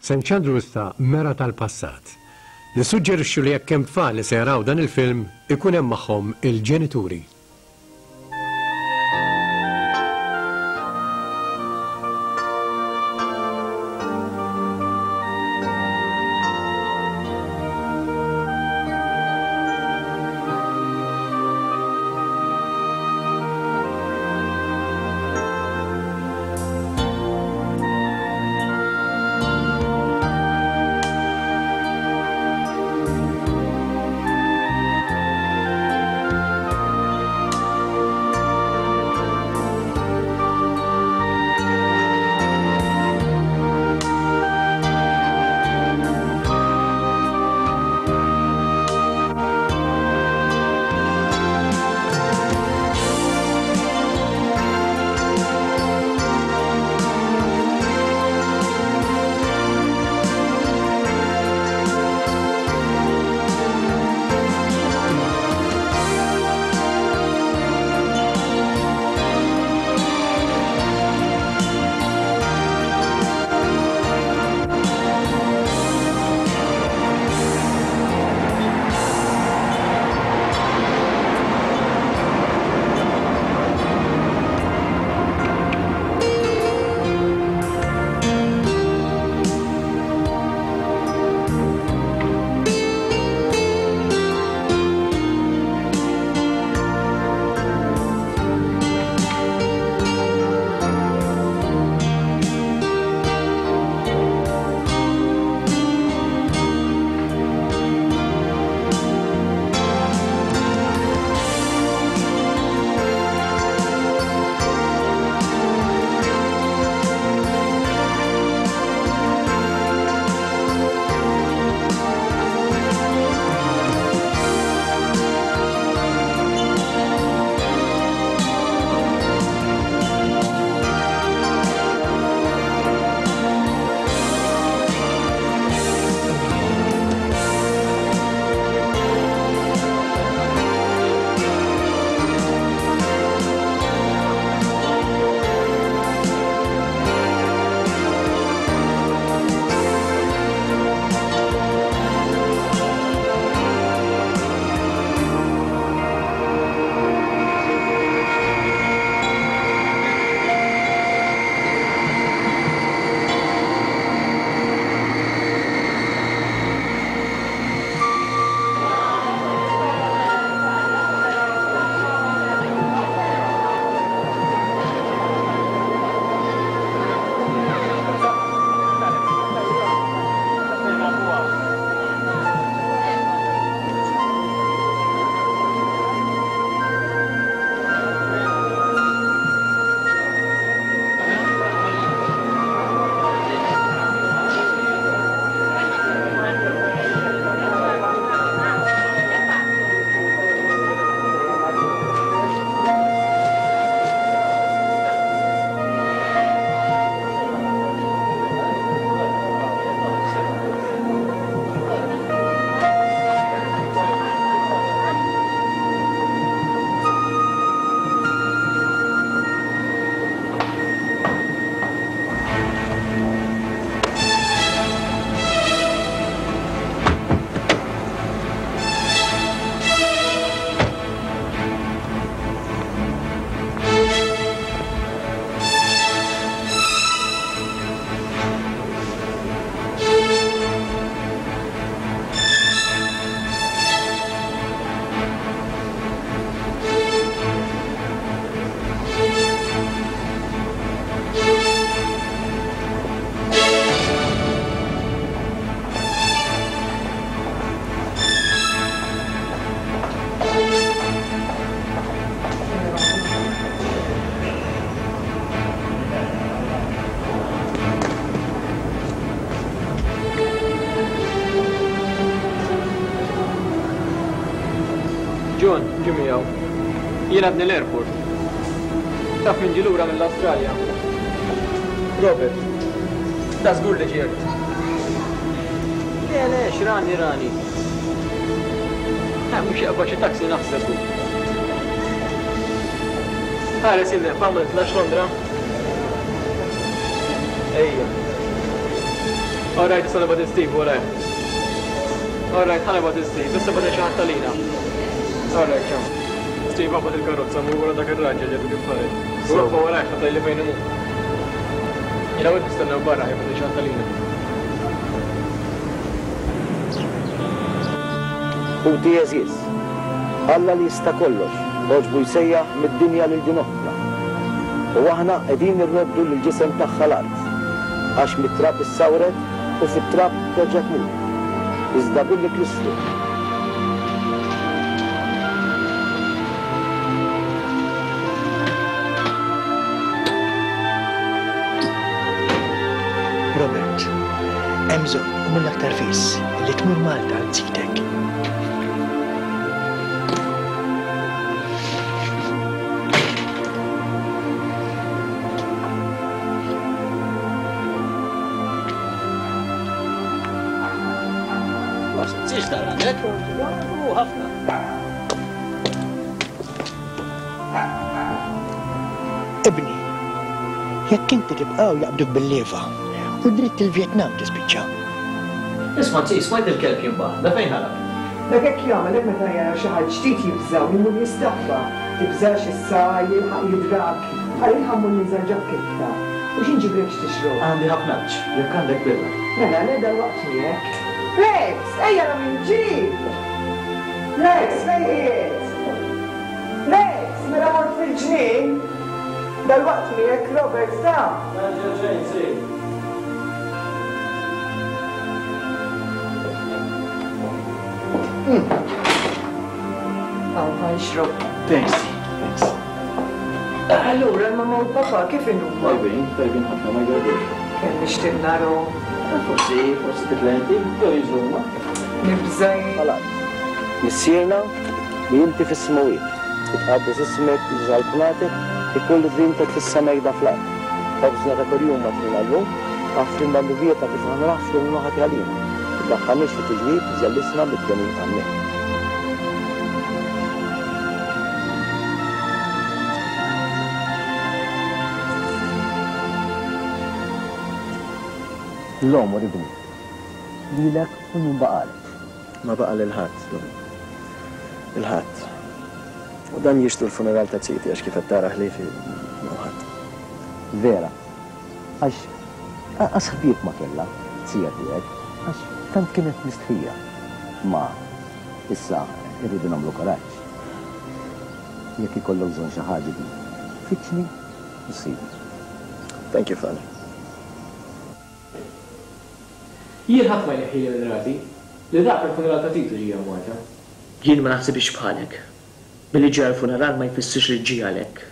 Se nxandru issa mera tal-passat. Nissuġġerixxu li jekk hemm tfal li se jaraw dan il-film ikun hemm magħhom il-ġenituri. John, ġie miegħu. Jien għadni l-airport. Taf min ġie lura mill-Awstralja? Robert. Da żgur li ġiet. Le, le, x'rani rani. Ha, mhux jaqbad xi taxi naħseb hu. Ħares il-leqfa ma nitlax Londra. Ejja. All right, issa nibgħat Steve warajh. All right, ħa nibgħat Steve, issa bagħat xi ħadd għalina. All right, ciao. Steve aqbad il-karozza mur wara dak ir-raġel li għadu kif ħareġ. U ibqa' warajh ħa tgħidli fejn imur. Jiena u int nistennew barra ħa jibgħat xi ħadd għalina. Ħuti għeżież, Alla li jista' kollox għoġbu jsejjaħ mid-dinja lil din oħtna. U aħna qegħdin irroddu lill-ġisem tagħha l-art, għax mit-trab issawret u fit-trab terġa' tmur. Iżda billi Kristu. Robert, hemm bżonn, u mill-aktar fis, li tmur Malta għand sidek. Ibni, jekk inti tibqa' jaqbduk bil-lieva u dritt il-Vjetnam tispiċċa. Isma' zi, smajt il-kelb jinbaħ, da fejn ħarab? Dak hekk jagħmel hekk meta jara xi ħadd ġdid jibża' u jmur jistaħba. Tibżax issa jilħaq jidrak. Ara jien ħa mmur ninża' l-ġakketta. U xi nġiblek x'tixrob? Għandi ħafna għatx, jekk għandek birra. Mela le dalwaqt miegħek. Rex, ejja ara min ġie! Rex, fejn qiegħed? Rex, mela mort fil-ġnien? Dalwaqt miegħek Robert ta. Tgħaġġel xejn, zi. Hawn ħa nixrob. Thanks, thanks. Allura l-mamma u l-papa kif inhuma? Tajbin, tajbin ħafna ma jgarbux. Kemm nixtieq narhom. Forsi, forsi titla' inti, jew jiġu huma. Nibża' jien. Tal-art. Missierna li inti fis-smewwiet, itqaddes ismek, tiġi saltnatek, ikun li tridtek fis-sema hekk fl-art. Ħobżna ta' kuljum agħtina llum, aħfrilna dnubietna kif aħna naħfru lil min ħati għalina. Tiddaħħalniex fi tiġrib, żellisna mid-deni. Amen. L-għomor ibni. Lilek u min baqagħlek. Ma baqa' lil ħadd, Dom. Lil ħadd. U dan jixtru l-funeral ta' ziti għax kif qed tara ħliefi m'hawn ħadd. Vera. Għax anqas ħbieb ma kellha, zija tiegħek, għax tant kienet mistħija. Ma, issa irridu nagħmlu kuraġġ. Jekk ikollok bżonn xi ħaġa ibni, fittxni u ssibni. Thank you, Father. Jien ħadd ma jneħħili minn rasi li dak il-funeral ta' Titu ġie hawn Malta. Jien ma naħsibhiex bħalek. Billi ġie għall-funeral ma jfissirx li ġie għalhekk.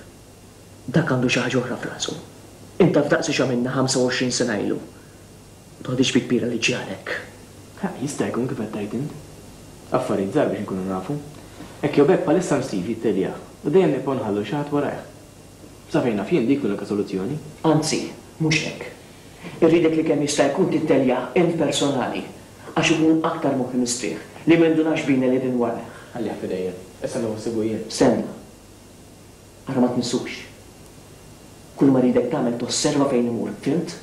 Dak għandu xi ħaġa oħra f'rasu. Int taf daqsi x'għamilna 25 sena ilu. Ma toħdix bi kbira li ġie għalhekk. Ha, jista' jkun kif qed tgħid int. Affarijiet żgħar biex inkunu nafu. Hekk jew b'hekk bħalissa hemm Steve jitteljah u dejjem nibqgħu nħallu xi ħadd warajh. Sa fejn naf jien dik l-unika soluzzjoni. Anzi, mhux hekk. Irridek li kemm jista' jkun titteljah int personali għax ikun aktar moħħi mistrieħ li ma jindunax bina li qegħdin warajh. Ħallih f'idejja. Issa nieħu ħsiebu jien. Stenna. Ara ma tmissux. Kull ma rridek tagħmel tosserva fejn imur, fhimt?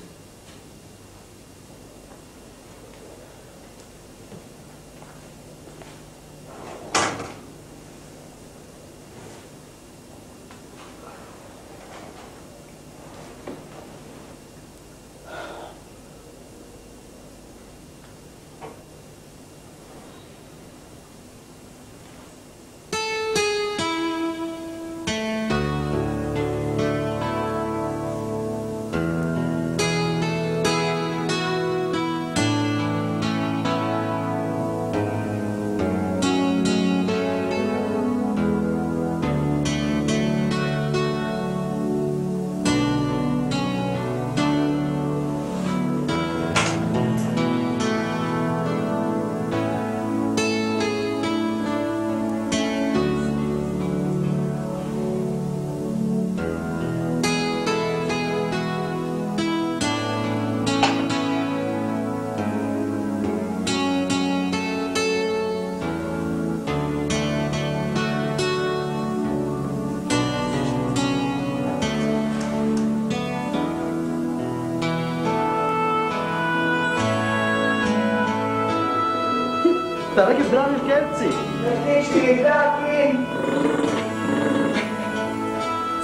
Tara kif drani l-kelb, zi. Tgħidx li dak kien.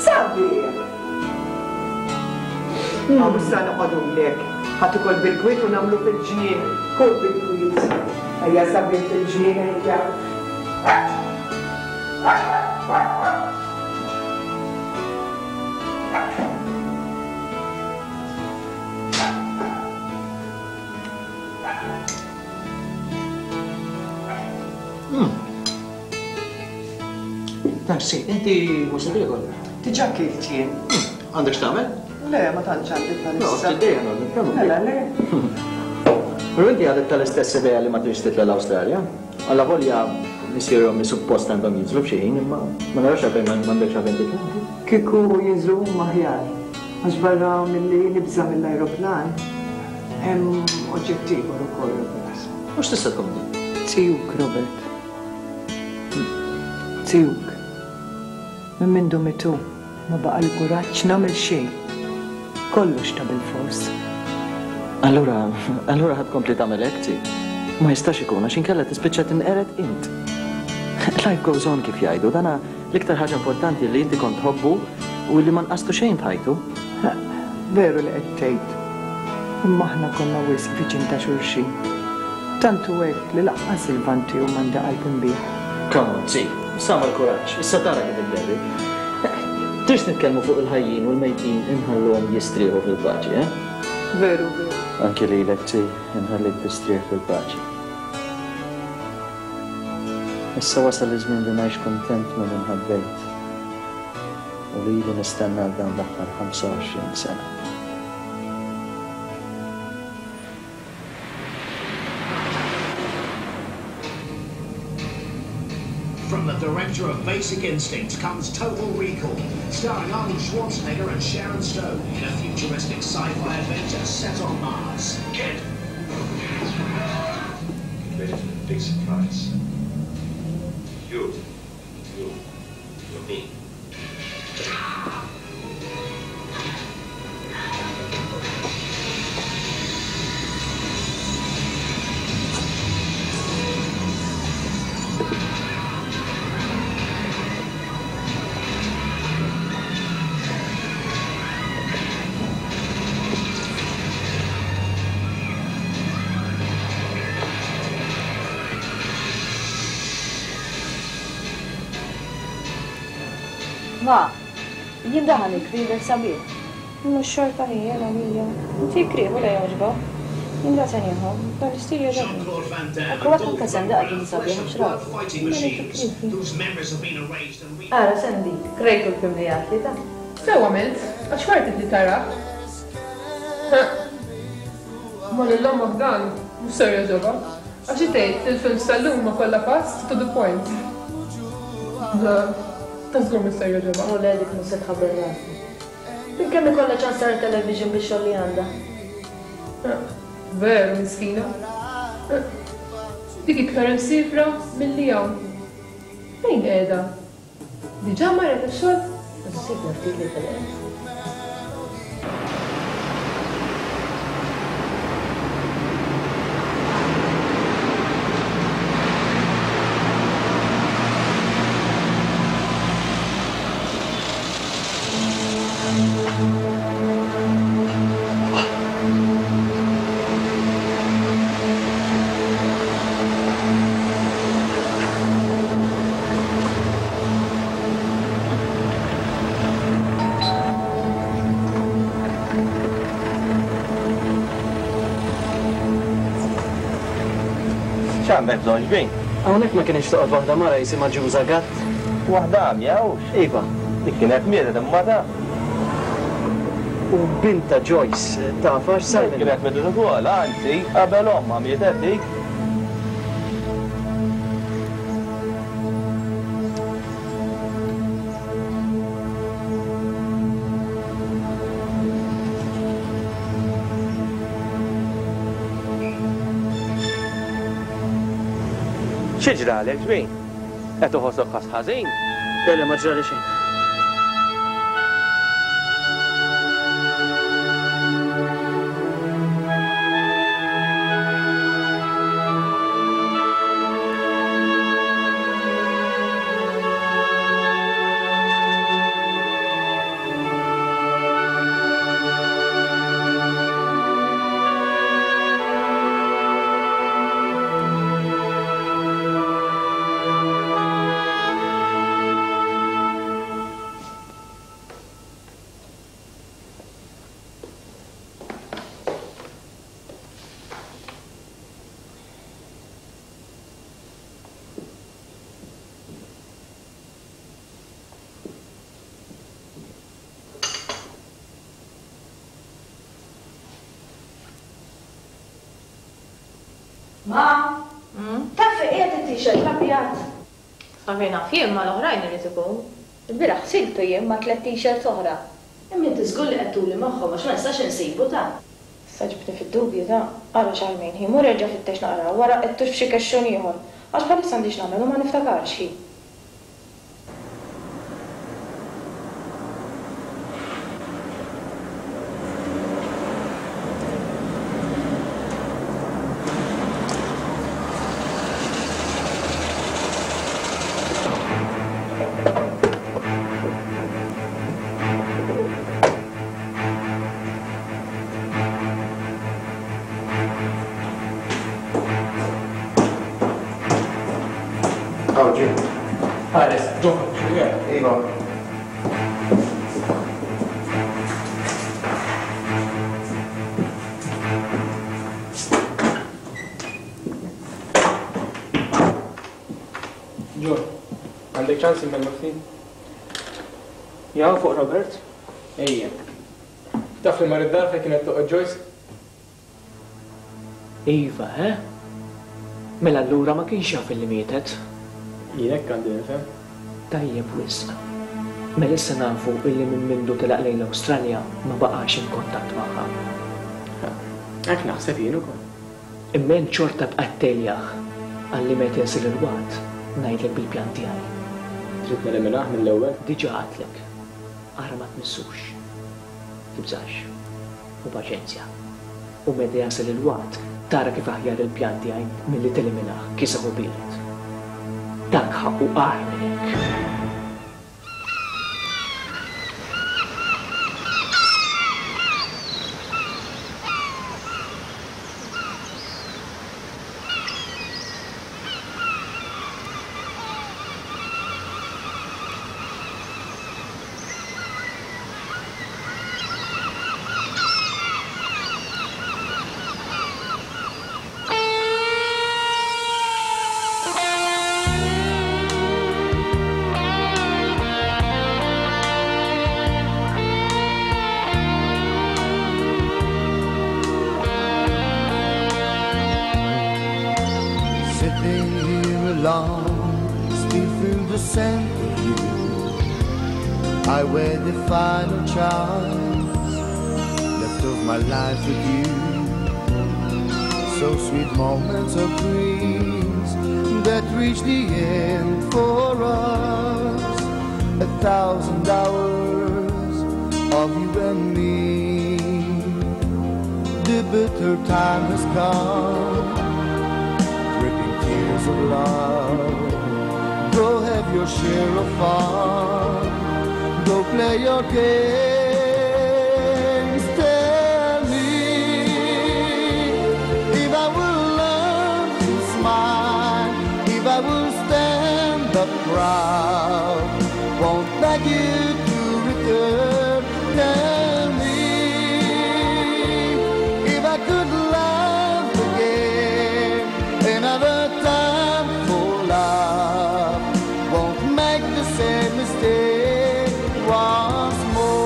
Sabiħ! Hawn issa noqogħdulek. Ħa tikol bil-kwiet u nagħmlu fil-ġnien. Kul bil-kwiet. Ejja sabiħ fil-ġnien ejja. Thanks, inti mhux se tiekol? Diġà kilt jien. Għandek x'tagħmel? Le, ma tantx għandi bħalissa. No, dejjem għandek. Mela le. Però inti għadek tal-istess idea li ma tridx titla' l-Awstralja? Allavolja missieri u ommi suppost għandhom jinżlu f'xi ħin, imma ma narax għalfejn m'għandekx għalfejn titla'. Kieku jinżlu huma aħjar, għax barra milli nibża' mill-ajruplan, hemm oġġett ieħor ukoll, Robert. U x'tista' tkun din? Zijuk, Robert. Zijuk. Minn mindu miet hu, ma baqali kuraġġ nagħmel xejn. Kollox ta' bilfors. Allura, allura ħa tkompli tagħmel hekk, zi? Ma jistax ikun għax inkella tispiċċa tinqered int. Life goes on kif jgħidu, dana l-iktar ħaġa importanti li inti kont tħobbu u li ma nqastu xejn f'ħajtu. Veru li qed tgħid. Imma aħna konna wisq viċin ta' xulxin. Tant hu hekk li laqqas il-vann tiegħu m'għandi qalb inbigħ. Come on, zi. Issa agħmel kuraġġ, issa tara kif idderri. Tridx nitkellmu fuq il-ħajjin u l-mejtin inħalluhom jistrieħu fil-paċi, eh? Veru, veru. Anki lilek, zi, inħallik tistrieħ fil-paċi. Issa wasal iż-żmien li ngħix kuntent ma' min ħabbejt u li ili nistenna għal dawn l-aħħar 25 sena. From the director of Basic Instinct comes Total Recall, starring Arnold Schwarzenegger and Sharon Stone in a futuristic sci-fi adventure set on Mars. Get! Get ready for the big surprise. You, you, you're me. Ma, jien daħal il-kbir sabiħ. Mhux xorta ħija għalija. Inti krih u la jogħġbok. Jien da se nieħu, dan l-istil jogħġobni. Ekku għad anke Sandy qaltli li sabiħ għax rat. Ara Sandy, krejtu l-film li għadtli ta. Sew għamilt, għax worth it li tarah. Imma lil ommok dan mhux ser jogħġobha, għax hi tgħid li l-films tal-lum huma kollha fast to the point. Ta' żgur mhux ser jogħġobha. U le dik mhux se tħabbel rasi. Minn kemm ikollha ċans tara television bix-xogħol li għandha? Veru miskina. Dik iktar imsiefra milli hawn. Fejn qiegħda? Diġà marret għax-xogħol? Nsibna ftit li telqet. X'għandek bżonn xbin? Hawnhekk ma kienx toqgħod waħda mara jisimha Ġuża Gatt? Waħda għamja hux? Iva. Dik kienet mietet imma ta. U bintha Joyce tafha x'sar minnha? Kienet mietet ukoll, anzi, qabel ommha mietet dik. Xi ġralek, ġbin? Qed iħossok ħass ħażin? Le, le, ma ġrali xejn. Ma! Taf fejn qiegħed it-t-shirt l-abjad? Sa fejn naf jien mal-oħrajn irid ikun. Ilbieraħ ħsiltu jien ma' tlett t-shirts oħra. Imma inti żgur li qed tuli magħhom għax ma nistax insibu ta. Issa ġibtni fid-dubju ta. Ara Charmaine, hi, mur erġa' fittex naqra u ara qegħdtux f'xi kexxun ieħor. Għax bħalissa għandi x'nagħmel u ma niftakarx, hi. Hawn ġie. Ħares, ġo, Iva. Ġo, għandek ċans immellmu ftit? Jaw fuq Robert? Ejja. Taf li mar id-dar fejn kienet toqgħod Joyce? Iva, eh? Mela allura ma kienx jaf illi mietet. Jien hekk għandi nifhem. Tajjeb wisq. Mela issa nafu illi minn mindu telaq lejn l-Awstralja ma baqax in kuntatt magħha. Hekk naħseb jien ukoll. Imma int xorta bqajt tgħejjah għalli meta jasal il-waqt ngħidlek bil-pjan tiegħi. Trid neliminah mill-ewwel? Diġà għedtlek. Ara ma tmissux. Tibżax. U paċenzja. U meta jasal il-waqt tara kif aħjar il-pjan tiegħi milli teliminah kiesaħ u biered. Dak ħaqqu agħar minn hekk. Sitting here alone, still feel the scent of you. I wear the final chance left of my life with you. So sweet moments of dreams that reach the end for us. 1,000 hours of you and me. The bitter time has come, dripping tears of love. Go have your share of fun. Go play your games. Tell me if I will learn to smile, if I will stand up proud. Won't beg you to return. Tell me if I could love again, another time for love. Won't make the same mistake once more.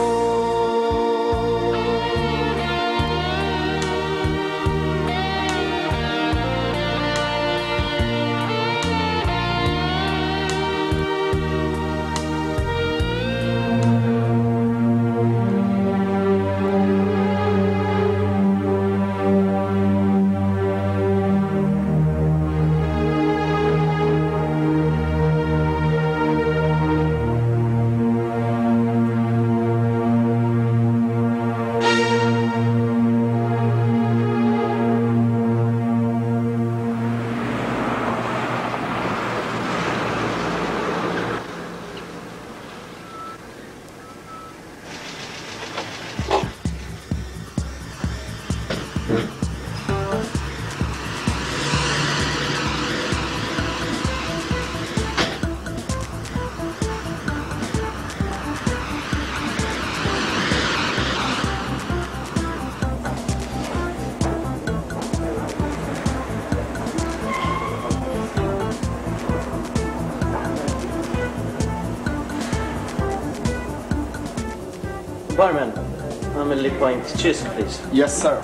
Barman, għamilli pint Cisk, please. Yes, sir.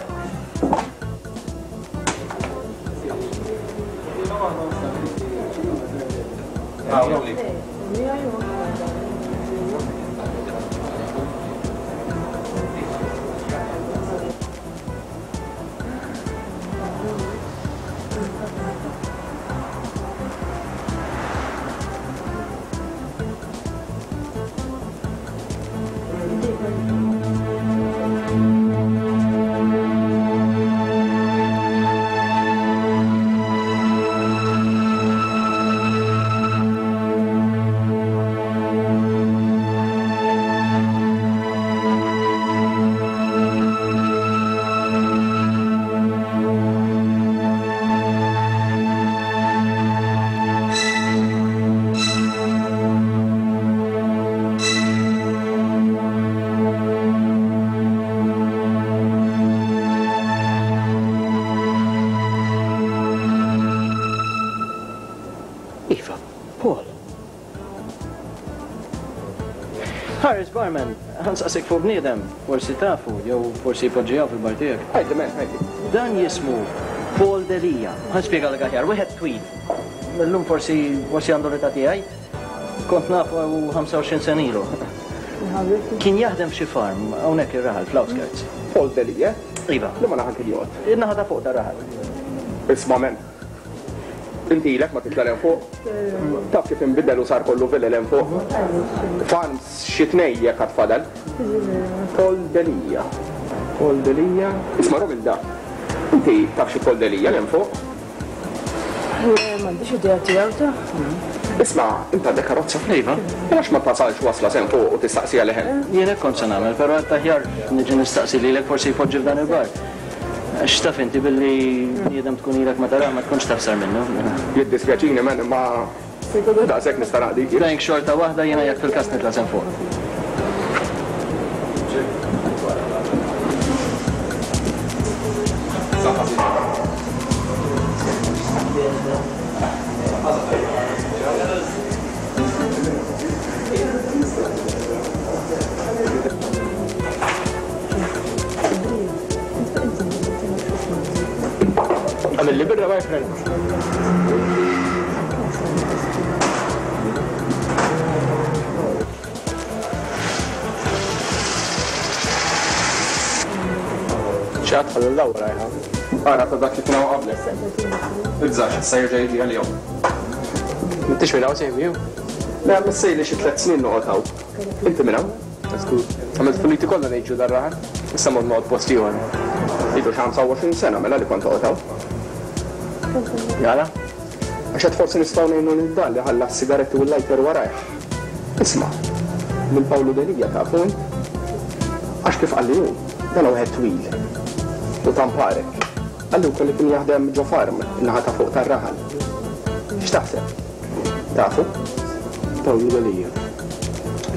Iva, Paul. Harris Barman, ħa nsaqsik fuq bniedem, forsi tafu, jew forsi jpoġġi hawn fil-bar tiegħek. Għidli, men, għidli. Dan jismu Paul Delia. Ħa nispjegalek aħjar, wieħed twil. Illum forsi forsi għandu l-età tiegħi. Kont nafu 25 sena ilu. Kien jaħdem f'xi farm hawnhekk ir-raħal fl-outskirts. Paul Delia? Iva. Liema naħa kien joqgħod? In-naħa ta' fuq tar-raħal. Isma' men. Inti ilek ma titla' 'l hemm fuq? Taf kif inbidel u sar kollu vilel hemm fuq? Farms xi tnej jekk għad fadal. Paul Delia. Paul Delia. Isma' Romilda, inti taf xi Paul Delia 'l hemm fuq? Le, m'għandix idea tiegħu ta'. Isma', int għandek karozza? Iva. Mela għax ma tasalx wasla s'hemm fuq u tistaqsi għalih hemm? Jien hekk kont se nagħmel, però għedt aħjar niġi nistaqsi lilek forsi jpoġġi f'dan il-bar. Għax taf inti billi bniedem tkun ilek ma tarah ma tkunx taf sar minnu. Jiddispjaċini man imma daqshekk nista' naqdik jien. Thanks xorta waħda jiena jekk fil-każ nitla' s'hemm fuq. Saħħa sinjura. Għamilli birra, my friend. ċat ħallu l-lawra jħa. Ara ta' dak li kien hawn qablek. Ibżax, issa jerġa' jiġi għalihom. M'intix minn hawn sejmi ju? Le, missejli xi tliet snin noqgħod hawn. Inti minn hawn? Żgur. Għamilt puliti kollha ngħixu dar-raħal. Issa mort noqgħod post ieħor. Ilu xi 25 sena mela li kont toqgħod hawn. Għala? Għax għad forsi nistgħu ngħinu lil dan li ħalla s-sigaretti u l-lighter warajh. Isma', lil Pawlu Delia tafu int? Għax kif qalli hu, dan hu wieħed twil u tamparek. Qalli wkoll li kien jaħdem ġo farm in-naħa ta' fuq tar-raħal. X'taħseb? Tafu? Pawlu Delia.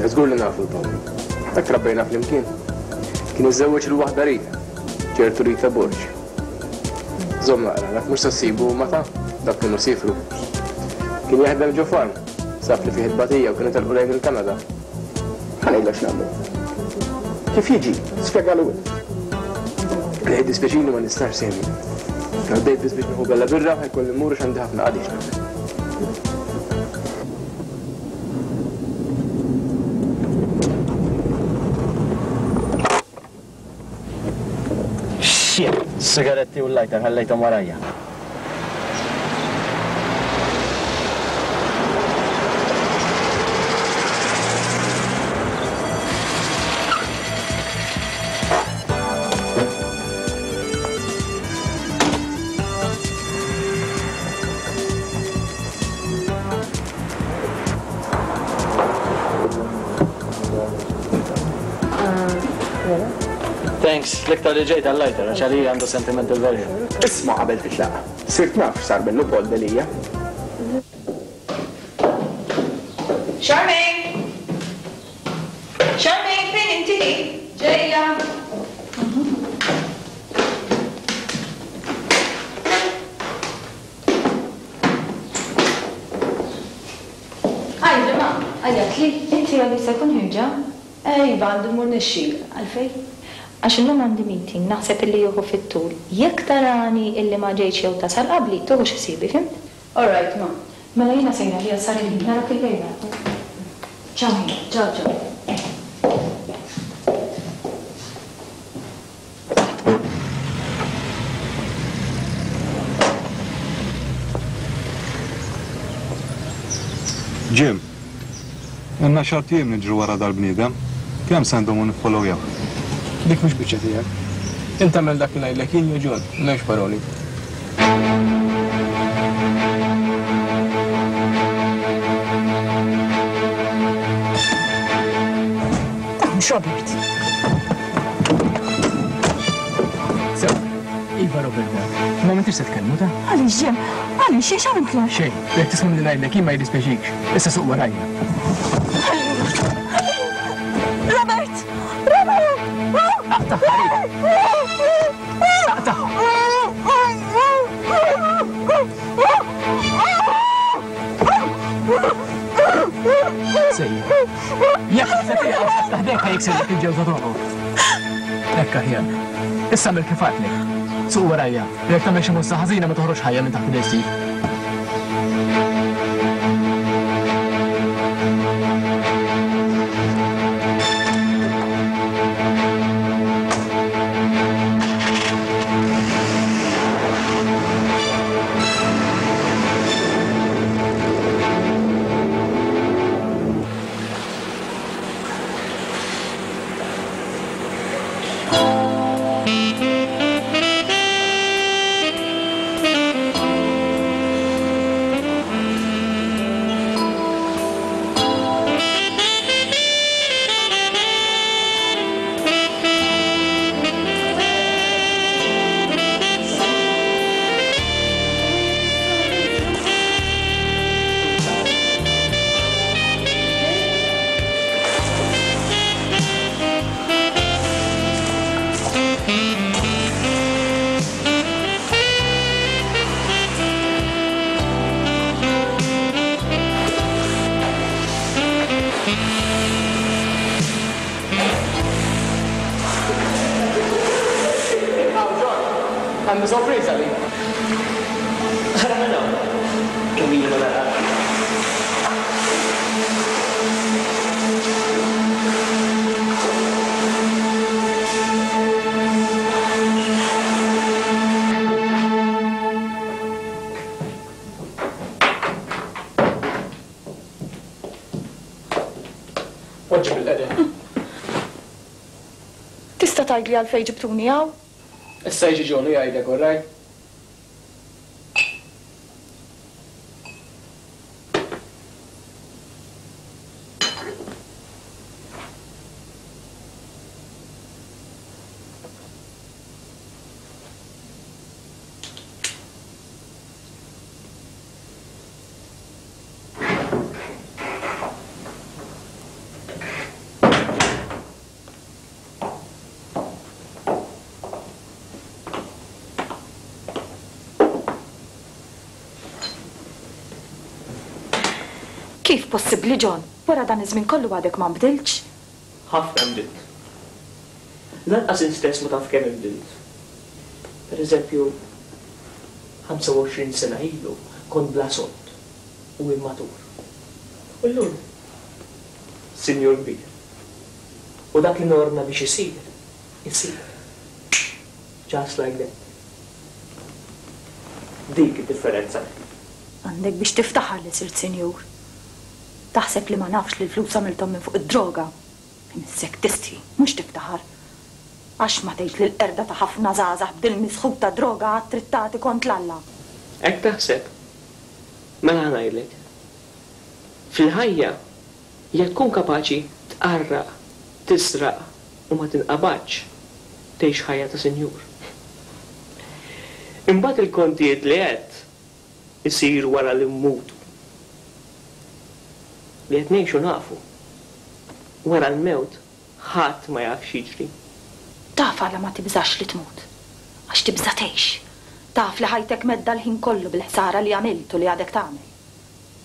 Le żgur li nafu 'l Pawlu. Hekk trabbejna flimkien. Kien iżżewweġ lil waħda Rita, ċertu Rita Borg. Żomm naqra, dak mhux se ssibu ma ta' dak kienu siefru. Kien jaħdem ġo farm, sab li fih it-tbatija u kienu telqu lejn il-Kanada. Ħa ngħidlek x'nagħmlu. Kif jiġi, spjegalu int. Le jiddispjaċini ma nistax Sammy. Għaddejt biss biex nieħu bella birra u ħa jkolli mmur għax għandi ħafna qadi x'nagħmel. Shit! Sigaretti u l-lighter ħallejthom warajja. Thanks, l-iktar li ġejt għal-lighter, għax għalija għandu sentimental value. Isma' qabel titlaq, sirt naf x'sar minnu Paul Delia. Charmaine! Charmaine, fejn inti? Ġejja! Għidli ma, għajjatli. Inti għal jista' jkun ħierġa? Eh iva għandi mmur nixxi. Għalfejn? Għax illum għandi meeting, naħseb illi jieħu fit-tul. Jekk tarani illi ma ġejtx jew tasal qabli, tieħux ħsiebi, fhimt? All right ma. Mela jiena sejra li sar il-ħin, narak illejla. Ciao ħin. Ciao ciao. Jim, ilna xart ijiem niġru wara dal-bniedem. Kemm se ndumu niffollowjawh? Dik mhux biċċa tiegħek. Int agħmel dak li ngħidlek jien jew John, m'hemmx paroli. Dak mhux Robert. Sew, iva Robert dak. Ma m'intix se tkellmu ta? Għaliex Jim? Għaliex jien x'għamiltlek? Xejn, jekk tisma' milli ngħidlek jien ma jiddispjaċikx. Issa suq warajja. Robert! Robert! Aqtagħha Rita! Aqtagħha! Sejjer. Jekk se tieqaf sa taħdek ħa jiksirlek il-ġewża t'għonqok. Hekk aħjar. Issa għamel kif għedtlek. Suq warajja. Jekk tagħmel xi mossa ħażina ma toħroġx ħajja minn taħt idejn Steve. Għandi sorpriża għalik. Ara minn hawn. Kemm ili ma narak. Poġġi bil-qedem. Tista' tgħidli għalfejn ġibtuni hawn? Issa jiġi John u jgħidlek, all right? Kif possibbli, John? Wara dan iż-żmien kollu għadek ma nbdiltx? Ħafna nbdilt. Lanqas int stess ma taf kemm inbdilt. Per eżempju, 25 sena ilu kont bla sod u immatur. U llum sinjur kbir. U dak li norna biex isir, isir. Just like that. Dik id-differenza. Għandek biex tiftaħar li sirt sinjur. Taħseb li ma nafx li l-flus għamilthom minn fuq id-droga. Imissek tistħi, mhux tiftaħar. Għax ma tgħidx li l-qerda ta' ħafna żgħażagħ b'dil-misħut tad-droga għad trid tagħti kont 'l Alla. Hekk taħseb? Mela ħa ngħidlek. Fil-ħajja, jekk tkun kapaċi tqarraq, tisraq u ma tinqabadx, tgħix ħajja ta' sinjur. Imbagħad il-kontijiet li għedt isiru wara li mmutu. Li qed ngħixu nafu. Wara l-mewt ħadd ma jaf x'jiġri. Taf għala ma tibżax li tmut? Għax tibża' tgħix. Taf li ħajtek mhedda l-ħin kollu bil-ħsara li għamilt u li għadek tagħmel.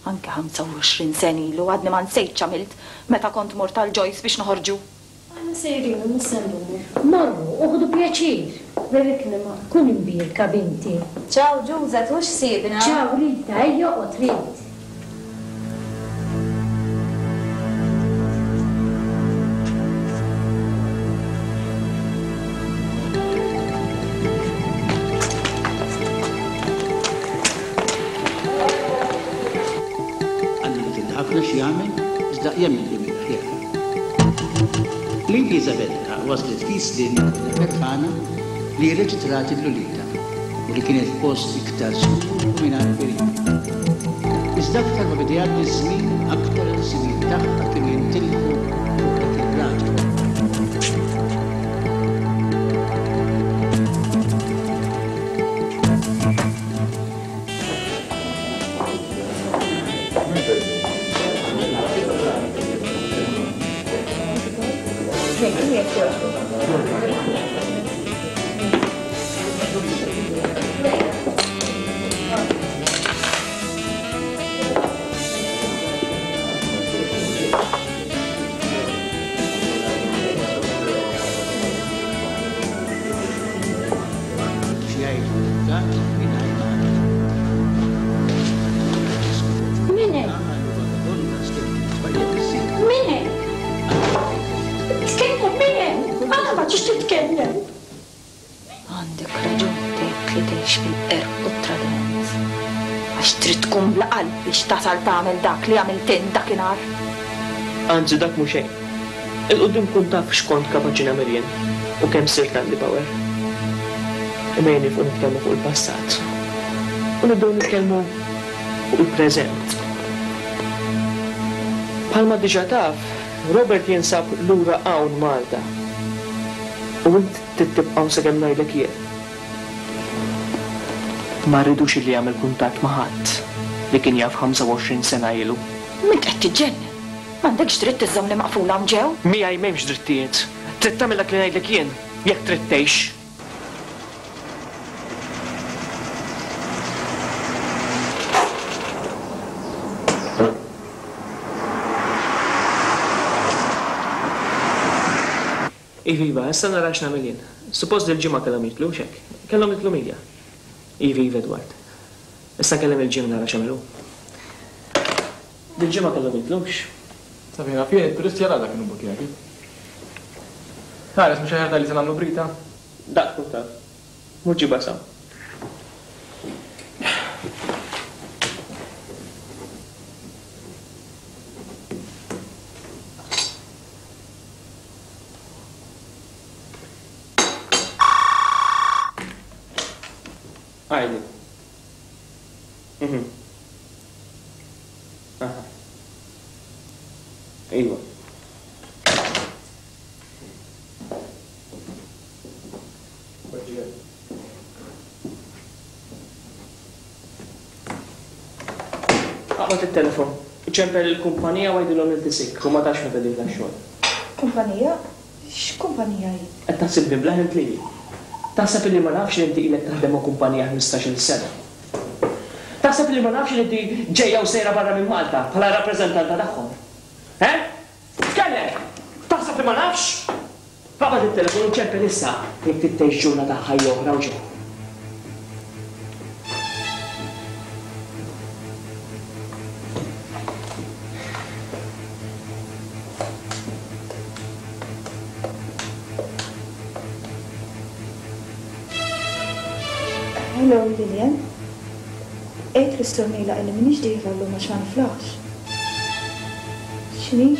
Anke 25 sena ilu għadni ma nsejtx x'għamilt meta kont mort għal Joyce biex noħorġu. Aħna sejrin u mhux se ndumu. Morru u ħudu pjaċir. Berikni ma, kun imbierka binti. Ciao Ġuża, tħux ħsiebna. Ciao Rita, ejja oqgħod Rit. Iżda jemmen li mill-aħjar. Lady Isabella waslet f'East Lynn kollha ferħana li rreġitrat lil uliedha u li kienet f'post iktar sikur u mingħajr periklu. Iżda aktar ma beda jgħaddi ż-żmien aktar il-ħsibijiet tagħha kienu jintilfu fuq dak ir-raġel. Min hekk? Min hekk? Tkellem min hekk? Għala ma tix titkellem? Għandek raġun tgħid li tgħix fil-qerq u t-tradiment. Għax trid tkun bla qalb biex tasal tagħmel dak li għamilt int dakinhar. Anzi dak mhu xejn. 'Il quddiem kun taf x'kont kapaċi nagħmel jien u kemm sirt għandi power. Imma jien nieqfu nitkellmu fuq il-passat u nibdew nitkellmu fuq il-preżent. Bħalma diġà taf, Robert jinsab lura hawn Malta u int trid tibqa' hawn sakemm ngħidlek jien. Ma rridux illi jagħmel kuntatt ma' ħadd li kien jaf 25 sena ilu. M'int qed tiġġennen? M'għandekx dritt iżżommni maqfula hawn ġew. Miegħi m'hemmx drittijiet. Trid tagħmel dak li ngħidlek jien, jekk trid tgħix. Iva, iva, issa nara x'nagħmel jien. Suppost dil-ġimgħa kellhom jidħlu, hux hekk? Kellhom jidħlu 100. Iva, iva, Edward. Issa nkellem lil Jim nara x'għamel hu. Dil-ġimgħa kellhom jidħlu, hux? Sa fejn naf jien, it-turisti għal għada kienu bbukkjati. Ħares, mhux aħjar tgħidli se nagħmlu brita? Dak tkun taf. Mur ġibha sa. Għidli. Mhm. Aha. Iva. Aqbad it-telefon. Iċempel il-kumpanija u għidilhom li inti sick u ma tafx meta dieħla x-xogħol. Kumpanija? X'kumpanija hi? Qed taħsibni blah int lili? Taħseb illi ma nafx li inti ilek taħdem ma' kumpanija ħmistax-il sena? Taħseb illi ma nafx li inti ġejja u sejra barra minn Malta bħala rappreżentanta tagħhom? Eh? Tkellem! Taħseb li ma nafx? Aqbad it-telefon u ċempel issa jekk trid tgħix ġurnata ħajja oħra u ġew. Hello Lilian. Għid lis-Sur Mejlaq illi m'iniex dieħla llum għax ma niflaħx. X'inhi?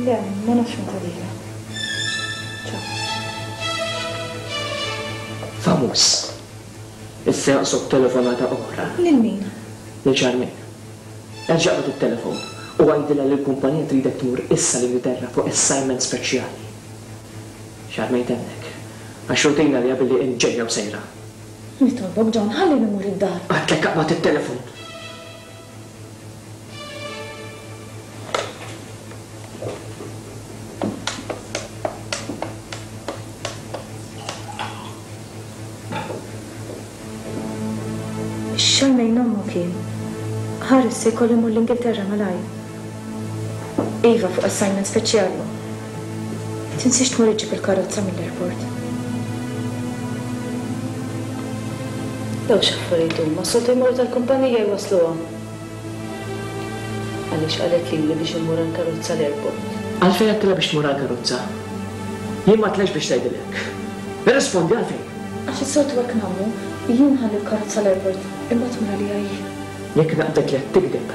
Le, ma nafx meta dieħla. Ciao. Famuż. Issa jonqsok telefonata oħra. Lil min? Lil Charmaine. Erġa' aqbad it-telefon u għidilha li l-kumpanija tridek tmur issa l-Ingilterra fuq assignment speċjali. Charmaine temmek. Għax rutina għaliha billi int ġejja u sejra. Nitolbok John, ħallini mmur id-dar. Għedtlek aqbad it-telefon. Charmaine ommok hi. Ħares se jkollu jmur l-Ingilterra malajr. Iva, fuq assignment speċjali. Tinsiex tmur iġġib il-karozza mill-airport. Dawn x'affarijiet huma? S-soltu jmorru tal-kumpanija jwassluha. Għaliex qalet lili biex immur għall-karozza l-airport? Għalfejn għedtilha biex tmur għall-karozza? Jien m'għedtlekx biex tgħidilha hekk. Irrispondi għalfejn? Għax is-soltu hekk nagħmlu, jien nħalli l-karozza l-airport, imbagħad tmur għaliha hi. Jekk naqbdek li qed tigdeb.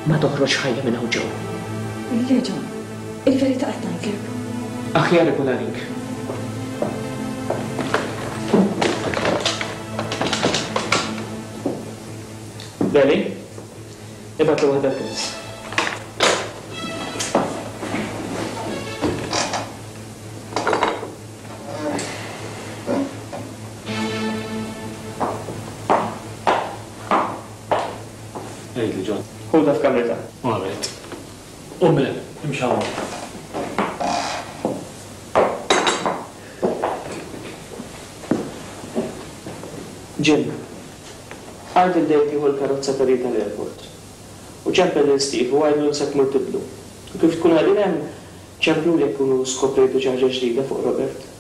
Ma toħroġx ħajja minn hawn ġew. Le, John. Il-verità qed ngħidlek. Aħjar ikun għalik. Deli, ibgħatlu waħda l-pils. Għidli, John. Ħudha f'kamritha. All right. Qum minn hemm, imxi hawn. Jim, għid lil Dave jieħu l-karozza ta' Rita l-airport. U ċempel lil Steve u għidlu li se tmur tibdlu. U kif tkunu qegħdin hemm, ċempluli jekk tkunu skoprejtu xi ħaġa ġdida fuq Robert.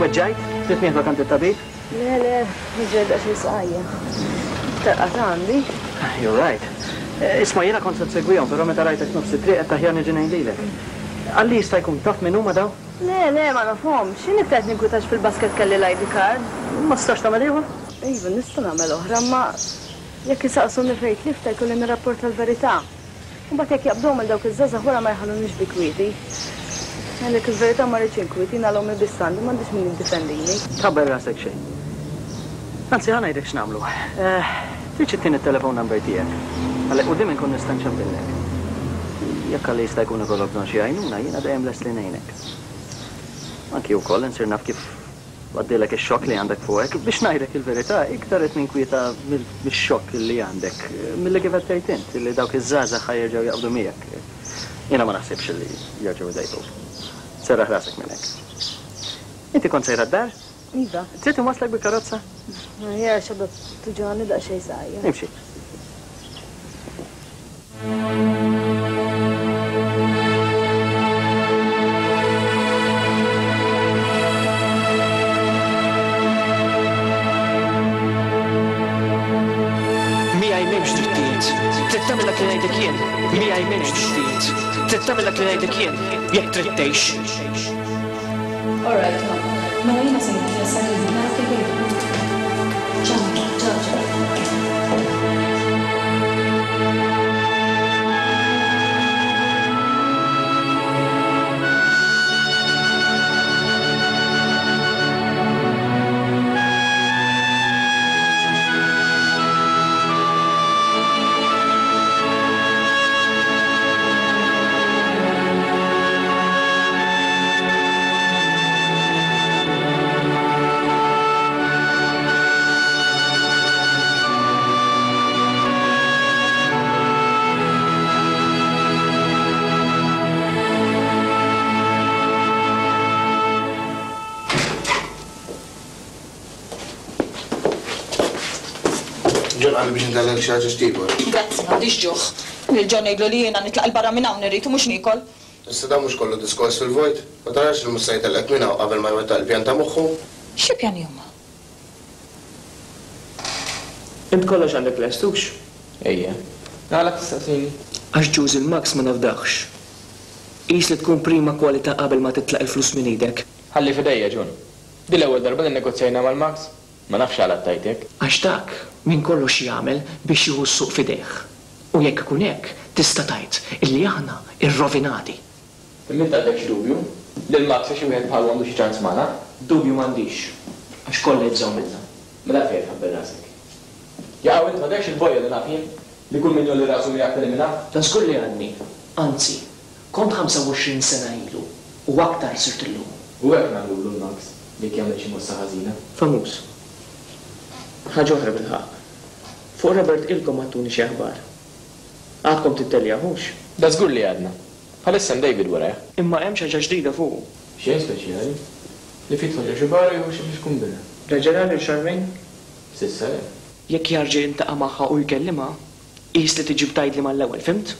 Weġġajt? Trid nieħdok għand it-tabib? Le, le, niġri daqsxejn sqajja. Iktar qatgħa għandi. You're right. Isma' jiena kont se nsegwihom, però meta rajtek f'nofs it-triq għedt aħjar niġi ngħin lilek. Qalli jista' jkun taf min huma dawn? Le, le, ma nafhomx. Jien iktar qed ninkwitax fil-basket kelli l-ID card. Ma tistax tagħmel ieħor? Iva, nista' nagħmel oħra, imma jekk isaqsuni fejn tliftha jkolli nirrapporta l-verità. U mbagħad jekk jaqbduhom lil dawk iż-żgħażagħ wara ma jħallunix bi kwieti. Ngħidlek il-verità ma rridx inkwiet, jien għal ommi biss għandi, m'għandix min jiddefendini. Tħabbar rasek xejn. Anzi, ħa ngħidlek x'nagħmlu. Tridx ittini t-telephone number tiegħek? Għalhekk quddiem inkun nista' nċempillek. Jekk għalli jista' jkun ikollok bżonn xi għajnuna, jiena dejjem lest li ngħinek. Anki wkoll insir naf kif Għaddielek ix-xokk li għandek fuqek. Biex ngħidlek il-verità, iktar qed ninkwieta mix-xokk li għandek milli kif qed tgħid int, li dawk iż-żgħażagħ ħa jerġgħu jaqbdu miegħek. Jiena ma naħsibx li jerġgħu jdejquk. Serraħ rasek minn hekk. Inti kont sejra d-dar? Iva. Trid inwasslek bil-karozza? Aħjar għax għadha tuġgħani daqsxejn saqajja. Imxi. Miegħi m'hemmx drittijiet. Trid tagħmel dak li ngħidlek jien. Miegħi m'hemmx drittijiet. Trid tagħmel dak li ngħidlek jien jekk trid tgħix. All right, ma. Mela jiena se nidħol sa narak il-lejla. Ciao, ciao, ciao. Ħerqan biex intellgħek xi ħaġa x'tiekol. Grazzi, m'għandix ġuħ. Lil John ngħidlu li jiena nitlaq 'il barra minn hawn irrid u mhux niekol. Issa dan mhux kollu diskors fil-vojt? Ma tarax li mhux se jtellqek minn hawn qabel ma jwettaq il-pjan ta' moħħu? Xi pjani huma? Int kollox għandek lest, hux? Ejja. Għala tistaqsini? Għax ġuż il-Max ma nafdahx. Qis li tkun prima kwalità qabel ma titlaq il-flus minn idek. Ħalli f'idejja, John. Din l-ewwel darba li nnegozjajna mal-Max. Ma nafx għala tgħid hekk. Għax dak minn kollox jagħmel biex jieħu s-suq f'idejh. U jekk ikun hekk, tista' tgħid illi aħna rrovinati. Imma int għandek xi dubju? Li l-Max jew xi wieħed bħalu għandu xi ċans magħna? Dubju m'għandix, għax kollha jibżgħu minna. Mela għalfejn qed tħabbel rasek? Jaqaw int m'għadekx il-bojja li naf jien? Li kull min jgħolli rasu miegħek teliminah? Dan żgur li għadni. Anzi, kont 25 sena ilu u aktar sirt illum. U hekk nagħmlulu l-Max jekk jagħmel xi mossa ħażina. Famuż. Ħaġa oħra bilħaqq. Fuq Robert ilkom ma ttuni xi aħbar. Għadkom titteljaw, hux? Da żgur li għadna. Bħalissa hemm David warajh. Imma hemm xi ħaġa ġdida fuqu? Xejn speċjali. Li ftit jidħol ġo xi bar u jieħu xi flixkun birra. Reġa' ra lil Charmaine? S'issa le. Jekk jarġa' jiltaqa' magħha u jkellimha, qis li tiġi b'tgħidli mal-ewwel, fhimt?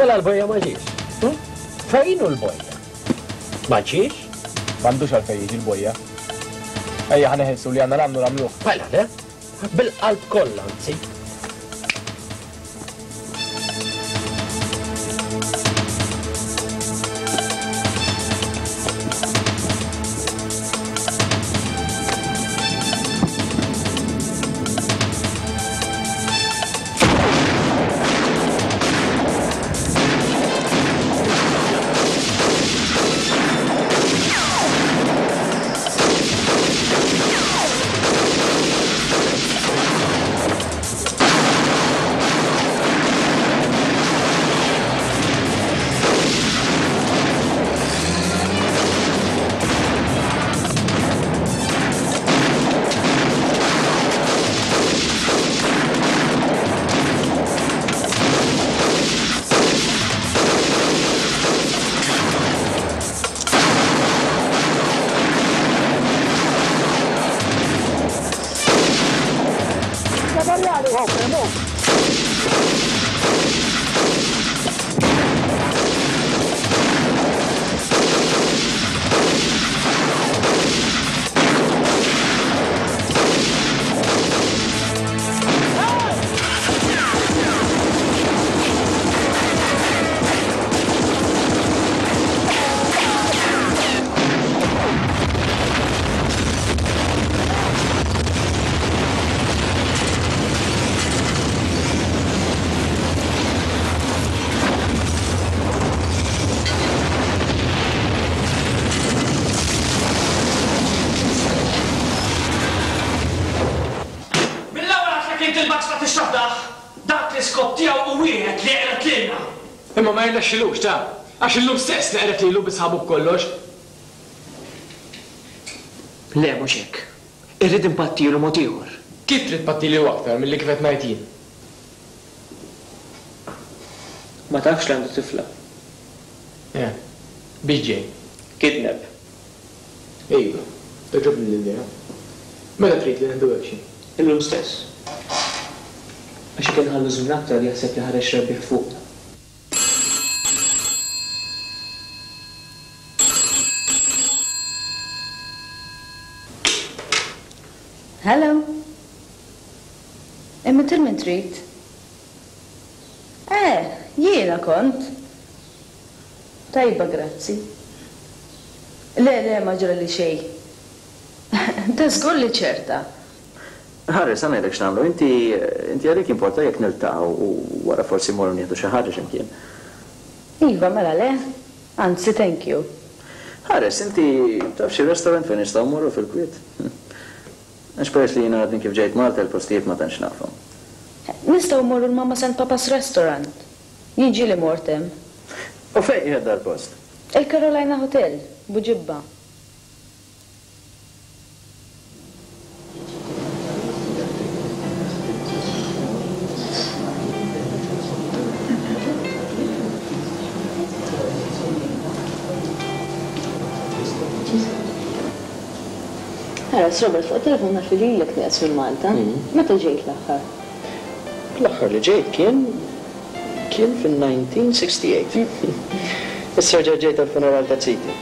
Mela l-bojja ma ġiex. Hm? Fejn hu l-bojja? Ma ġiex? M'għandux għalfejn jiġi l-bojja. Ejja ħa neħilsu li għandna nagħmlu nagħmluh. Mela le, bil-qalb kollha anzi. Mill-ewwel għedtlek int il-Max ma tix tafdah! Dak l-iskop tiegħu hu wieħed li jeqred lilna! Imma ma jirnexxilux, ta! Għax illum stess neqred lilu bi sħabu b'kollox! Le, mhux hekk. Irrid inpattilu mod ieħor. Kif trid tpattilu aktar milli kif qed ngħid jien? Ma tafx li għandu tifla? Eh. Biex ġej? Kidnap. Iva. Togħġobni l-idea. Meta trid li nieħdu action? Illum stess. Għax jekk inħallu żmien aktar jaħseb li ħareġ rebbieħ fuqna. Hello. Imma til min trid? Eh, jiena kont. Tajba grazzi. Le, le, ma ġrali xejn. Da żgur li ċerta. Ħares, ħa ngħidlek x'nagħmlu. Inti, inti għalik jimporta jekk niltaqgħu u wara forsi mmorru nieħdu xi ħaġa xi mkien? Iva, mela le. Anzi, thank you. Ħares, inti taf xi restaurant fejn nistgħu mmorru fil-kwiet? Għax peress li jiena għadni kif ġejt Malta il-postijiet ma tantx nafhom. Nistgħu mmorru l-Mama's and Papa's Restaurant. Jien ġieli mort hemm. U fejn qiegħed dal-post? Il-Carolina Hotel, Buġibba. Ħares, Robert, fuq it-telefon naf li lilek nieqes minn Malta. Meta ġejt l-aħħar? L-aħħar li ġejt kien kien fin-1968. Issa rġajt ġejt għall-funeral ta' ziti.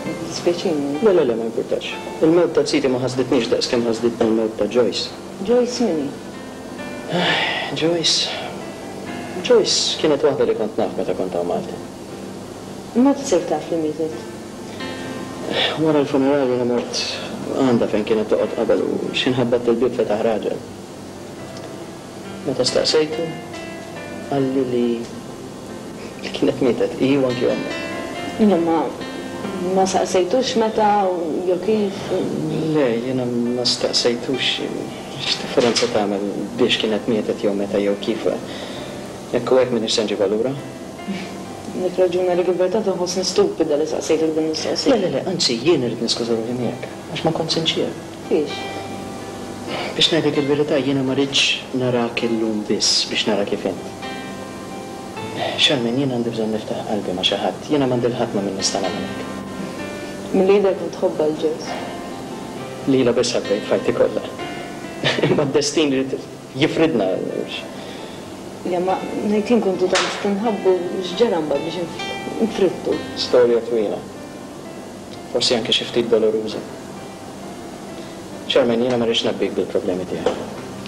Dispjaċini. Le, le, le, ma jimpurtax. Il-mewt ta' ziti ma ħasditnix daqs kemm ħasditni l-mewt ta' Joyce. Joyce min hi? Joyce. Joyce kienet waħda li kont naf meta kont hawn Malta. Meta sirt taf li mietet? Wara l-funeral jiena mort għandha fejn kienet toqgħod qabel u x'ħin ħabbatt il-bieb fetaħ raġel. Meta staqsejtu, qalli li li kienet mietet hi u anki ommha. Imma ma saqsejtux meta jew kif? Le, jiena ma staqsejtux. X'differenza tagħmel biex kienet mietet jew meta jew kif? Hekk u hekk m'iniex se nġibha lura. Għandek raġun għalik il-verità tinħossni stupida li saqsejtek din il-mistoqsija. Le, le, le, anzi jien irrid niskuża ruħi miegħek għax ma kontx sinċier. Fiex? Biex ngħidlek il-verità jiena ma ridtx narak illum biss biex nara kif int. Charmaine, jiena għandi bżonn niftaħ qalbi ma' xi ħadd. Jiena m'għandi 'l ħadd ma' min nista' nagħmel hekk. Milli jidher kont tħobbha 'l Joyce. Lilha biss ħabbejt f'ħajti kollha. Imma d-destin ried jifridna. Le ma ngħid jien kontu tant tinħabbu x'ġara mbagħad biex infridtu? Storja twila. Forsi anke xi ftit doloruża. Charmaine, jiena ma rridx ngħabbik bil-problemi tiegħi.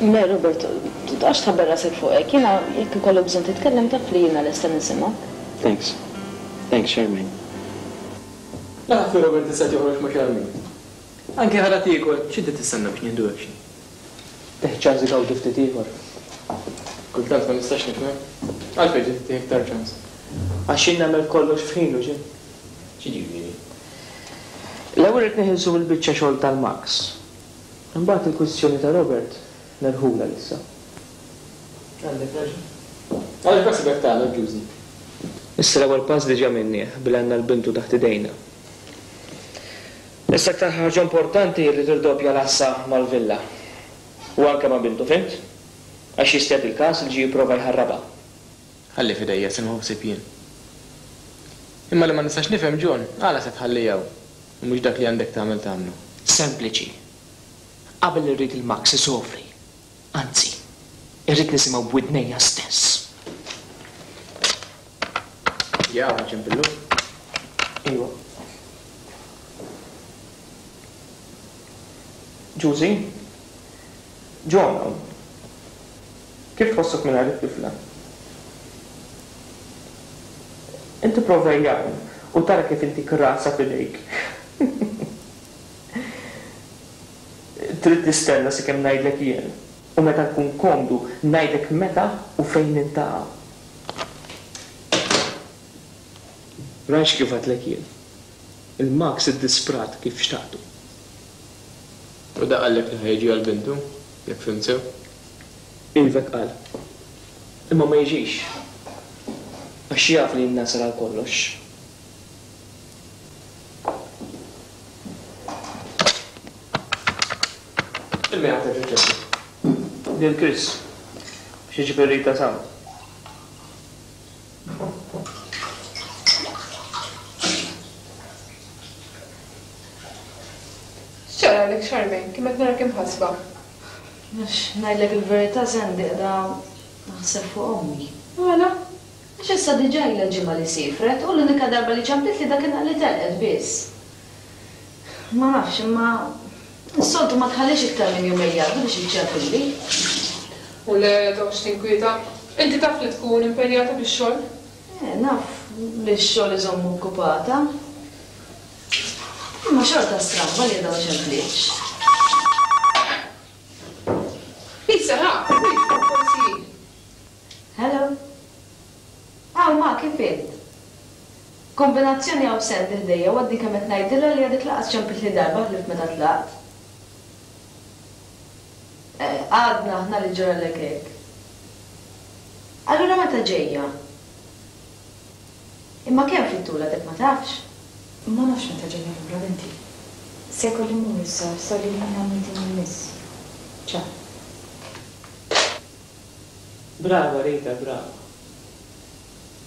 Le, Robert, tqgħodx tħabbel rasek fuq hekk. Jiena jekk ikollok bżonn titkellem taf li jiena lesta nisimgħek. Thanks. Thanks, Charmaine. Naf li Robert issa qed joħroġ ma' Charmaine. Anke ħalha tiekol, x'inti tistenna biex nieħdu action? Tih ċans igawdi ftit ieħor. Kultant ma nistax nifhem. Għalfejn trid ittih iktar ċans? Għax jien nagħmel kollox f'ħinu, Jim. X'jiġifieri? L-ewwel irrid neħilsu mill-biċċa xogħol tal-Max. Imbagħad il-kwistjoni ta' Robert nerħulha issa. Għandek raġun. Għaliex beħsibek tagħmel, Ġużi? Issa l-ewwel pass diġà għamilnieh billi għandna l-bintu taħt idejna. Issa aktar ħaġa importanti hi li tirdoppja l-għassa mal-villa. U anke ma' bintu, fhimt? Għax jista' jagħti l-każ li ġie jipprova jħarrabha. Ħalli f'idejja se nieħu ħsieb jien. Imma li ma nistax nifhem, John, għala se tħalli hawn u mhux dak li għandek tagħmel tagħmlu? Sempliċi. Qabel irrid il-Max isofri. Anzi, irrid nisimgħu b'widnejja stess. Jaw, ċempillu? Iwa. Ġużi? John hawn. Kif tħossok mingħajr it-tifla? Inti prova ejja hawn u tara kif intik rasha f'idejk. Trid tistenna sakemm ngħidlek jien u meta nkun komdu ngħidlek meta u fejn niltaqgħu. Rajtx kif għedtlek jien. Il-Max iddisprat kif xtaqtu. U dak qallek li ħa jiġi għal bintu, jekk fhimt sew? Iva hekk qal. Imma ma jiġix. Għax jaf li jien nasal għal kollox. Lil min ħa terġa' ċċempel? Lil Chris. Biex iġib ir-Rita s'hawn. X'ġaralek Charmaine, kemm qed narak imħassba? Għax ngħidlek il-verità Sandy qiegħda naħseb fuq ommi. Għala? Għax issa diġà ilha ġimgħa li siefret u l-unika darba li ċemplitli dakinhar li telqet biss. Ma nafx imma. Is-soltu ma tħallix iktar minn jumejn jgħaddu biex iċċempilli. U le, toqgħodx tinkwieta. Inti taf li tkun impenjata bix-xogħol. Eh, naf li x-xogħol iżomm okkupata. Imma xorta stramba li għadha ma ċemplitx. Lisa, ħa, forsi hi. Hello. Hawn ma, kif int? Kombinazzjoni hawn Sandy ħdejja u għadni kemm qed ngħidilha li għadek lanqas ċempiltli darba ħlief meta tlaqt. Eh, għadna aħna li ġralek hekk. Allura meta ġejja? Imma kemm fit-tul għadek ma tafx? Ma nafx meta ġejja lura binti. Se jkolli mmur issa, sorry l-ħin għall-meeting li jmiss. Ciao. Brava Rita, brava.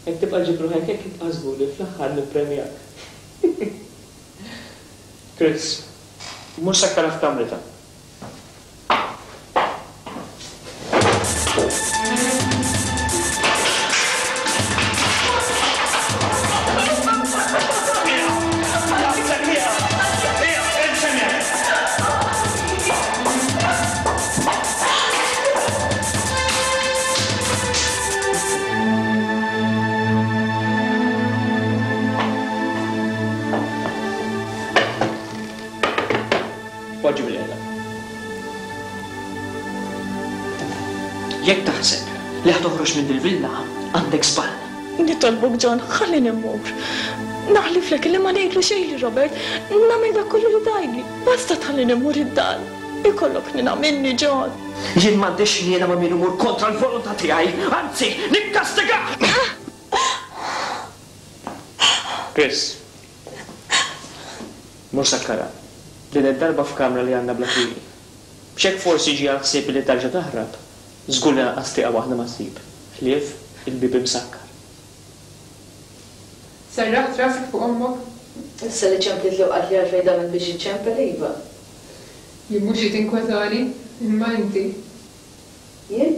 Jekk tibqa' ġġib ruħek hekk ibqa' żgur li fl-aħħar nippremjak. Chris, mur sakkarha f'kamritha. Poġġi bilqiegħda. Jekk taħseb li ħa toħroġ minn dil-villa, għandek żball. Nitolbok John, ħallini mmur. Naħliflek li ma ngħidlu xejn lil Robert, nagħmel dak kollu li tgħidli, basta tħallini mmur id-dar. Ikollok ħniena minni, John. Jien m'għandix ħniena ma' min imur kontra l-volontà tiegħi, anzi, nikkastigah! Chris, mur sakkarha. Din id-darba f'kamra li għandna bla twieqi. Biex hekk forsi jiġi għall-ħsieb li tarġa' taħrab, żgur li lanqas tieqa waħda ma ssib, ħlief il-bieb imsakkar. Serraħt rasek fuq ommok? Issa li ċemplitli u qaltli għalfejn damet biex iċċempel, iva. Jien mhux hi tinkwetani, imma inti. Jien?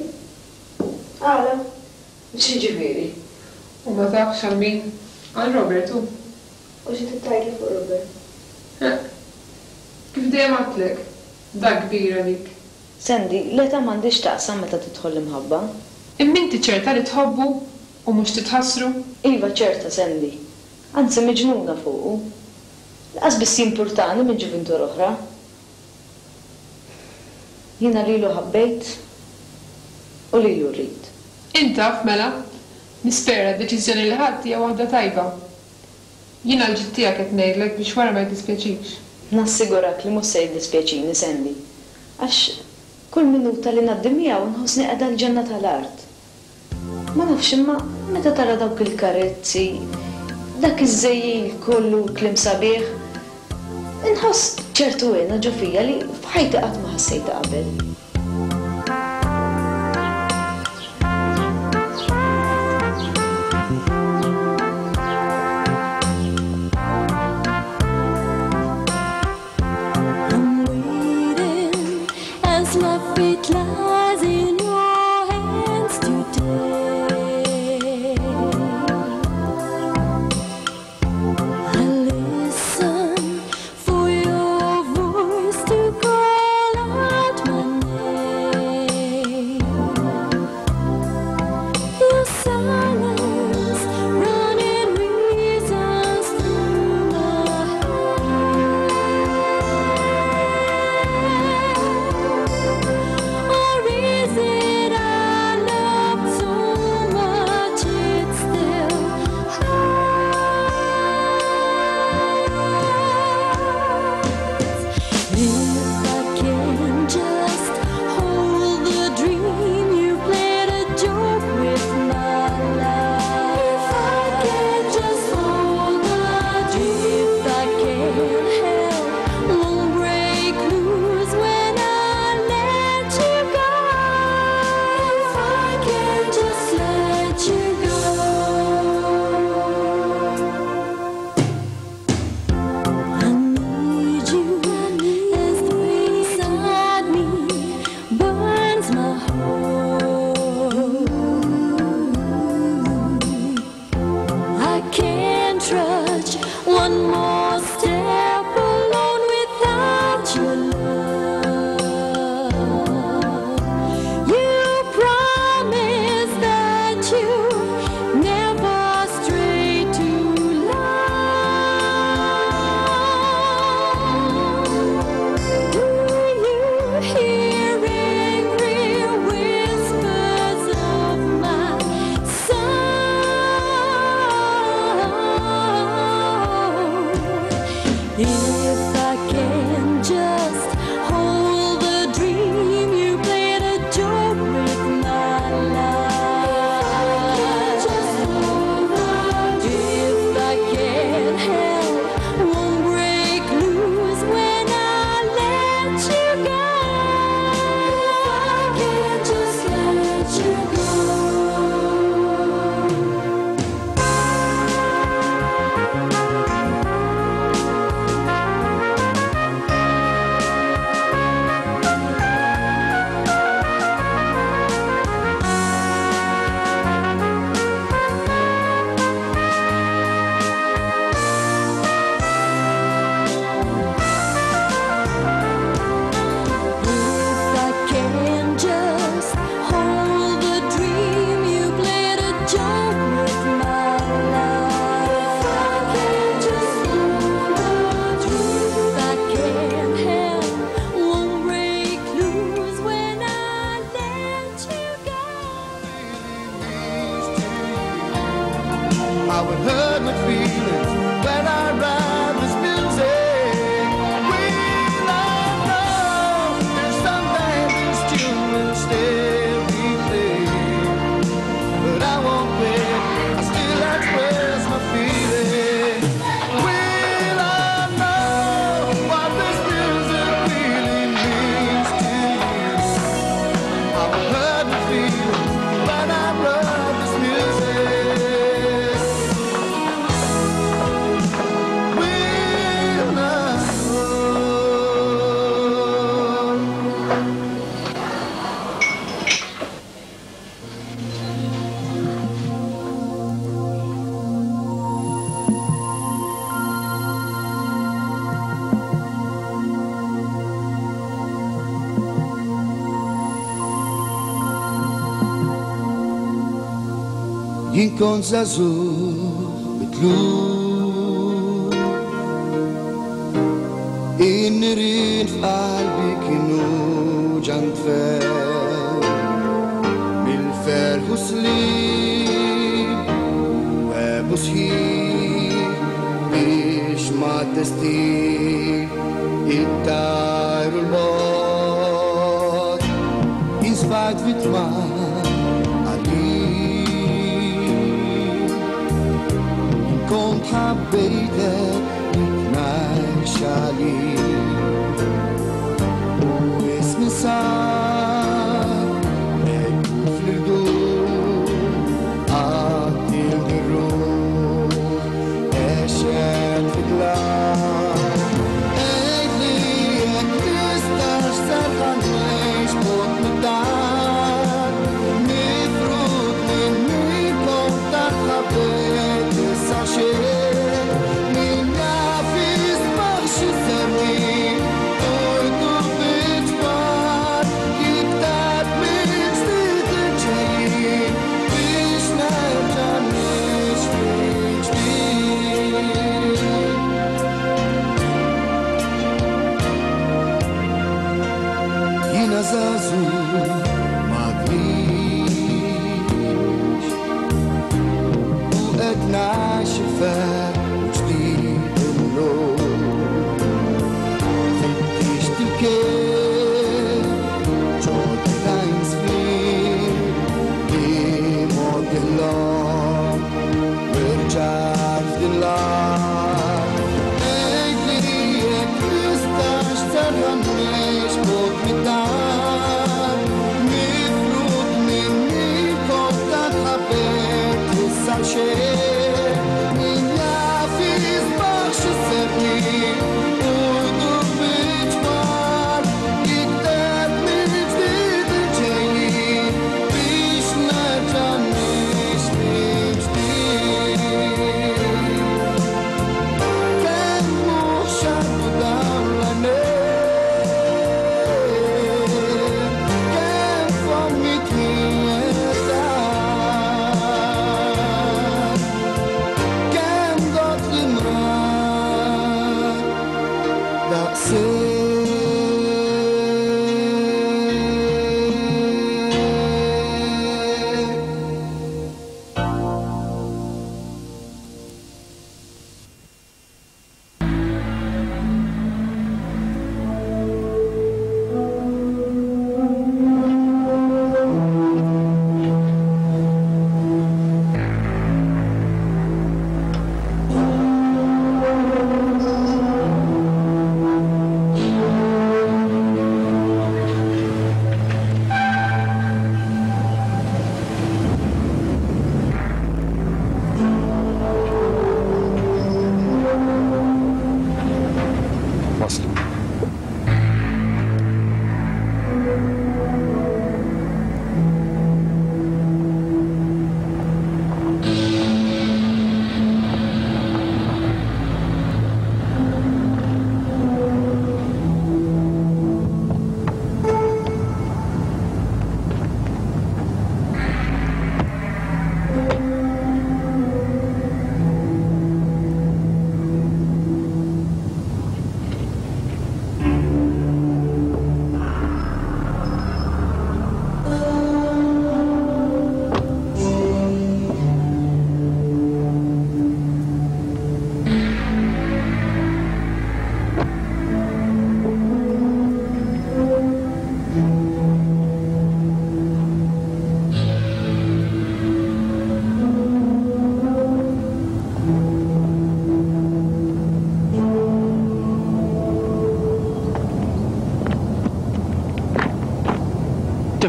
Għala? X'jiġifieri? U ma tafx għal min? Għal Robert, hu. U xi trid tgħidli fuq Robert? Ħeqq. Kif dejjem għedtlek, dak kbir għalik. Sandy, l-età m'għandhiex x'taqsam meta tidħol l-imħabba. Imma inti ċerta li tħobbu u mhux titħassru? Iva ċerta, Sandy. Anzi miġnuna fuqu. Lanqas biss jimpurtani minn ġuvintur oħra. Jiena lilu ħabbejt u lilu rrid. Int taf, mela. Nispera d-deċiżjoni li ħadt hija waħda tajba. Jien għall-ġid tiegħek qed ngħidlek biex wara ma jiddispjaċikx. Nassigurak li mhux se jiddispjaċini, Sandy. Għax kull minuta li ngħaddi miegħu nħossni qiegħda l-ġenna tal-art. Ma nafx imma meta tara dawk il-karezzi, dak iż-żejjil kollu u kliem sabiħ, inħoss ċertu hena ġo fija li f'ħajti qatt ma ħassejtha qabel. I'm waiting as my fate lies in your hands today. I listen for your voice to call out my name. How it hurt my feelings when I write this music. Will I know if someday this tune will still be played? But I won't quit, I still express my feelings. Will I know what this music really means to you? How it hurt my feelings when I wrote this music. Will I Jien kont żagħżugħ mitluf In-nirien f'qalbi kienu ġantfew Mill-ferħ u slib u għebu sħiħ Biex ma destin ittajru l-bogħod Jien sfajt vittma għalik Kont ħabbejtek nitnajx għalik U ismi sar ekku fl-irdur Għattil dir-ruħ għexet fid-dlam Għidli jekk tistax serħan ngħix bogħod mid-dar Mifrud minn min kont tant ħabbejt issa xejn Min jaf isbaħ x'isemmi Tojtu bitwar iktar mill-ġdid il-ġejjin Biex nerġa' ngħix mill-ġdid Jiena żagħżugħ ma tgħix U qed ngħix il-ferħ u ġdid illum Fittixt il-kien ġodda times fil Li mod illum Irġajt f'din l-art Għidli jekk tistax terġa' ngħix bogħod mid-dar Mifrud minn min kont tant ħabbejt issa xejn Min jaf isbaħ x'isemmi U jdur biċ-ċmar Jikteb mill-ġdid il-ġejjin Biex nerġa' ngħix mill-ġdid Kemm mhux għaddu dawn l-għajnejn Kemm fommi tnieta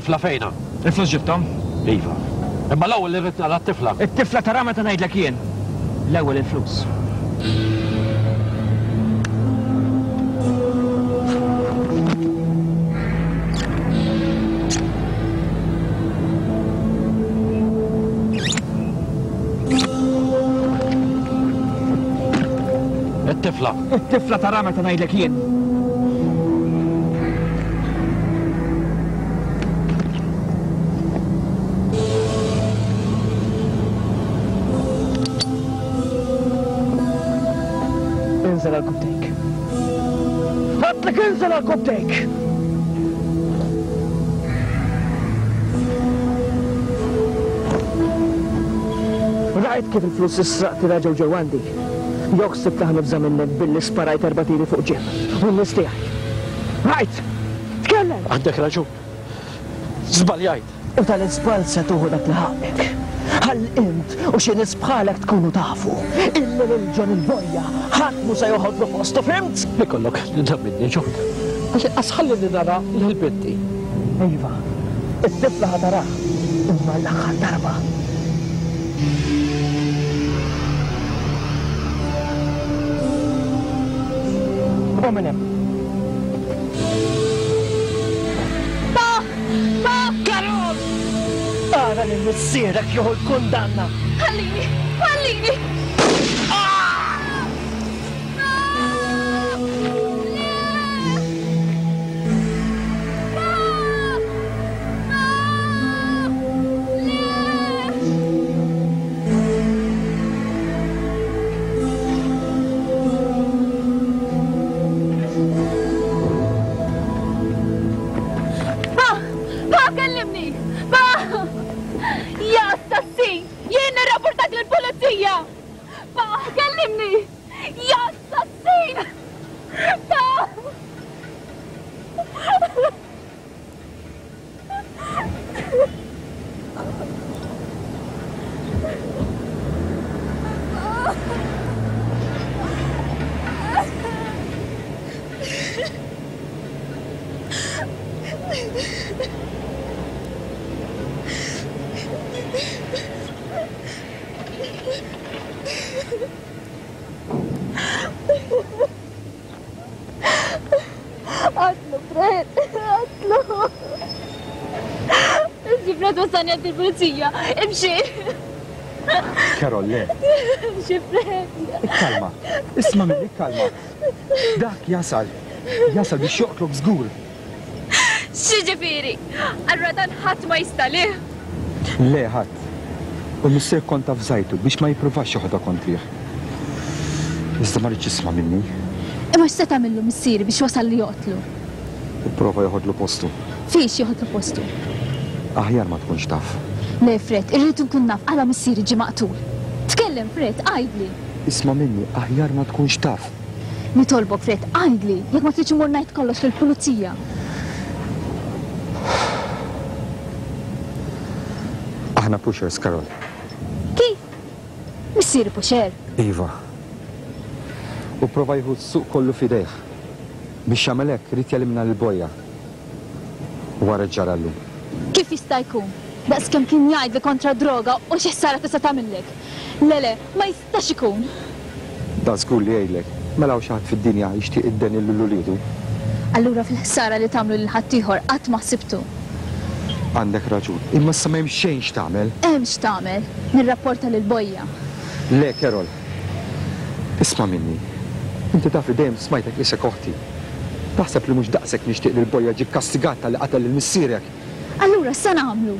It-tifla fejnha? Il-flus ġibthom? Iva. Imma l-ewwel irrid nara t-tifla. It-tifla taraha meta ngħidlek jien. L-ewwel il-flus. It-tifla. It-tifla taraha meta ngħidlek jien. Inżel għal kubtejk. Għatlek inżel għal kubtejk! Rajt kif il-flus is-sraqti raġgħu ġew għandi. Jew ħsibt li ħa nibża' minnek billi sparajt erba' tiri fuq Jim u n-nies tiegħi. Rajt! Tkellem! Għandek raġun. Żbaljajt. U tal-iżball se tuħu dak li ħaqqek. Ħalli int u xi nies bħalek tkunu tafu illi lil John il-Bojja ħadd mhu se joħodlu postu, fhimt? Ikollok ħniena minni, John. Għall-inqas ħallini nara lil binti. Iva, it-tifla ħa taraha, imma l-aħħar darba. U minn hemm. Pa! Pa! Karol! Ara lil missierek jieħu l-kundanna. Ħallini! Ħallini! Pa! Pa, kellimni! Pa! Ja assassin! Jien nirrapportak lill-pulizija! Pa, kellimni! Ja assassin! Pa! Qatlu, Fred, qatlu. Imxi, Fred, wasalni għand il-pulizija. Imxi. Karol, le. Imxi, Fred. Ikkalma. Isma' minni, ikkalma. Dak jasal. Jasal biex joqtlok żgur. X'jiġifieri? Allura dan ħadd ma jista' lih? Le, ħadd. U l-missier kont avżajtu biex ma jippruvax joħodha kontrih. Iżda ma riedx jisma' minni. Imma x'se tagħmillu missieri biex wasal li joqtlu? Ipprova joħodlu postu. Fiex joħodlu postu? Aħjar ma tkunx taf. Le, Fred, irrid inkun naf għala missieri ġie maqtul. Tkellem, Fred, għidli! Isma' minni, aħjar ma tkunx taf. Nitolbok, Fred, għidli, jekk ma tridx immur ngħid kollox lill-pulizija. Aħna pushers, Carol. Kif? Missieri pusher? Iva. U pprova jieħu s-suq kollu f'idejh. Biex jagħmel hekk ried jelimina lil Boja. U ara x'ġara llum. Kif jista' jkun? Daqs kemm kien jgħidli kontra d-droga u xi ħsara tista' tagħmillek. Le, le, ma jistax ikun! Dan żgur li jgħidlek, mela hawn xi ħadd fid-dinja jixtieq id-deni lil uliedu? Allura fil-ħsara li tagħmlu lil ħaddieħor qatt ma ħsibtu. Għandek raġun, imma issa m'hemm xejn x'tagħmel. Hemm x'tagħmel, nirrapporta lil Bojja. Le, Carol. Isma' minni. Inti taf li dejjem smajtek qisek oħti. Taħseb li mhux daqshekk nixtieq li l-Bojja ġie kkastigat talli qatel lil missierek? Allura x'se nagħmlu?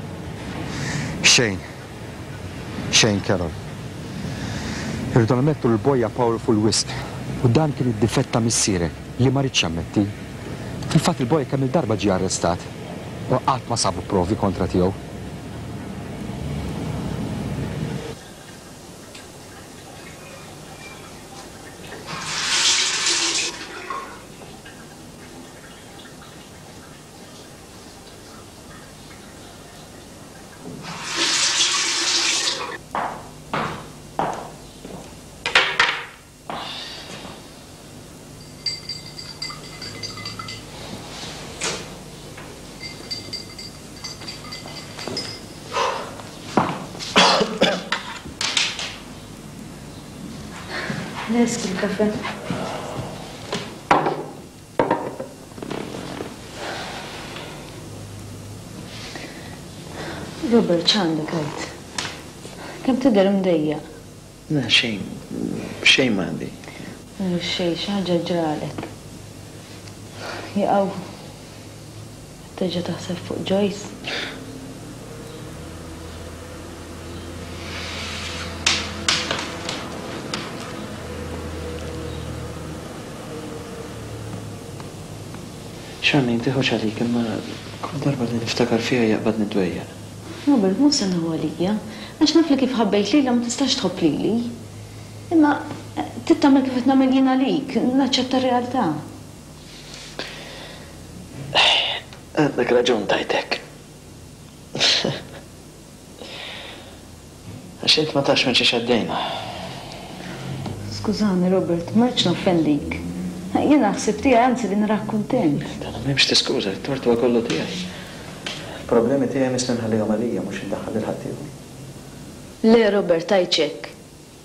Xejn. Xejn, Carol. Irridu nammettu li l-Bojja powerful wisq u dan kien id-difett ta' missierek li ma riedx jammetti. Fil-fatt il-Bojja kemm-il darba ġie arrestat u qatt ma sabu provi kontra tiegħu. Lest il-kafe. Robert, x'għandek għid? Kemm tidher imdejjaq? Le, xejn. Xejn m'għandi. Mhux xejn, xi ħaġa ġralek. Jaqaw qed terġa' taħseb fuq Joyce? Charmaine, tieħux għalik, imma kull darba li niftakar fiha jaqbadni d-dwejjaq. Robert, mhux se nieħu għalija, għax naf li kif ħabbejt lilha ma tistax tħobb lili. Imma trid tagħmel kif qed nagħmel jien għalik, naċċetta r-realtà. Għandek raġun tgħid hekk. Għax int ma tafx minn xiex għaddejna. Skużani Robert, ma rridx noffendik. Jiena l-ħsieb tiegħi anzi li narak kuntent. Dana m'hemmx tiskuża, it-tort huwa kollu tiegħi. Il-problemi tiegħi missni nħallihom għalija mhux indaħħal lil ħaddieħor. Le Robert tgħidx hekk.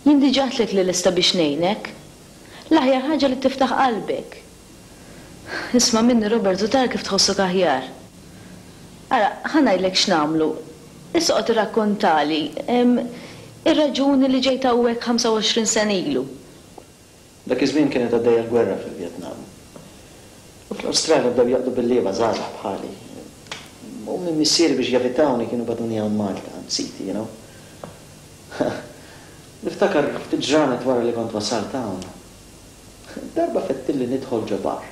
Jien diġà għedtlek li lesta biex ngħinek. L-aħjar ħaġa li tiftaħ qalbek. Isma' minni Robert u tara kif tħossok aħjar. Ara, ħa ngħidlek x'nagħmlu. Issa oqgħod irrakkontali ir-raġuni li ġejt hawnhekk 25 sena ilu. Dak iż-żmien kienet għaddejja l-gwerra fil-Vjetnam. U fl-Awstralja bdew jaqdu bil-lieva żgħażagħ bħali. Ommi u missieri biex jevitawni kienu bagħtuni hawn Malta, għand siti, you know. Niftakar ftit ġranet wara li kont wasalt hawn. Darba fettilli nidħol ġo bar.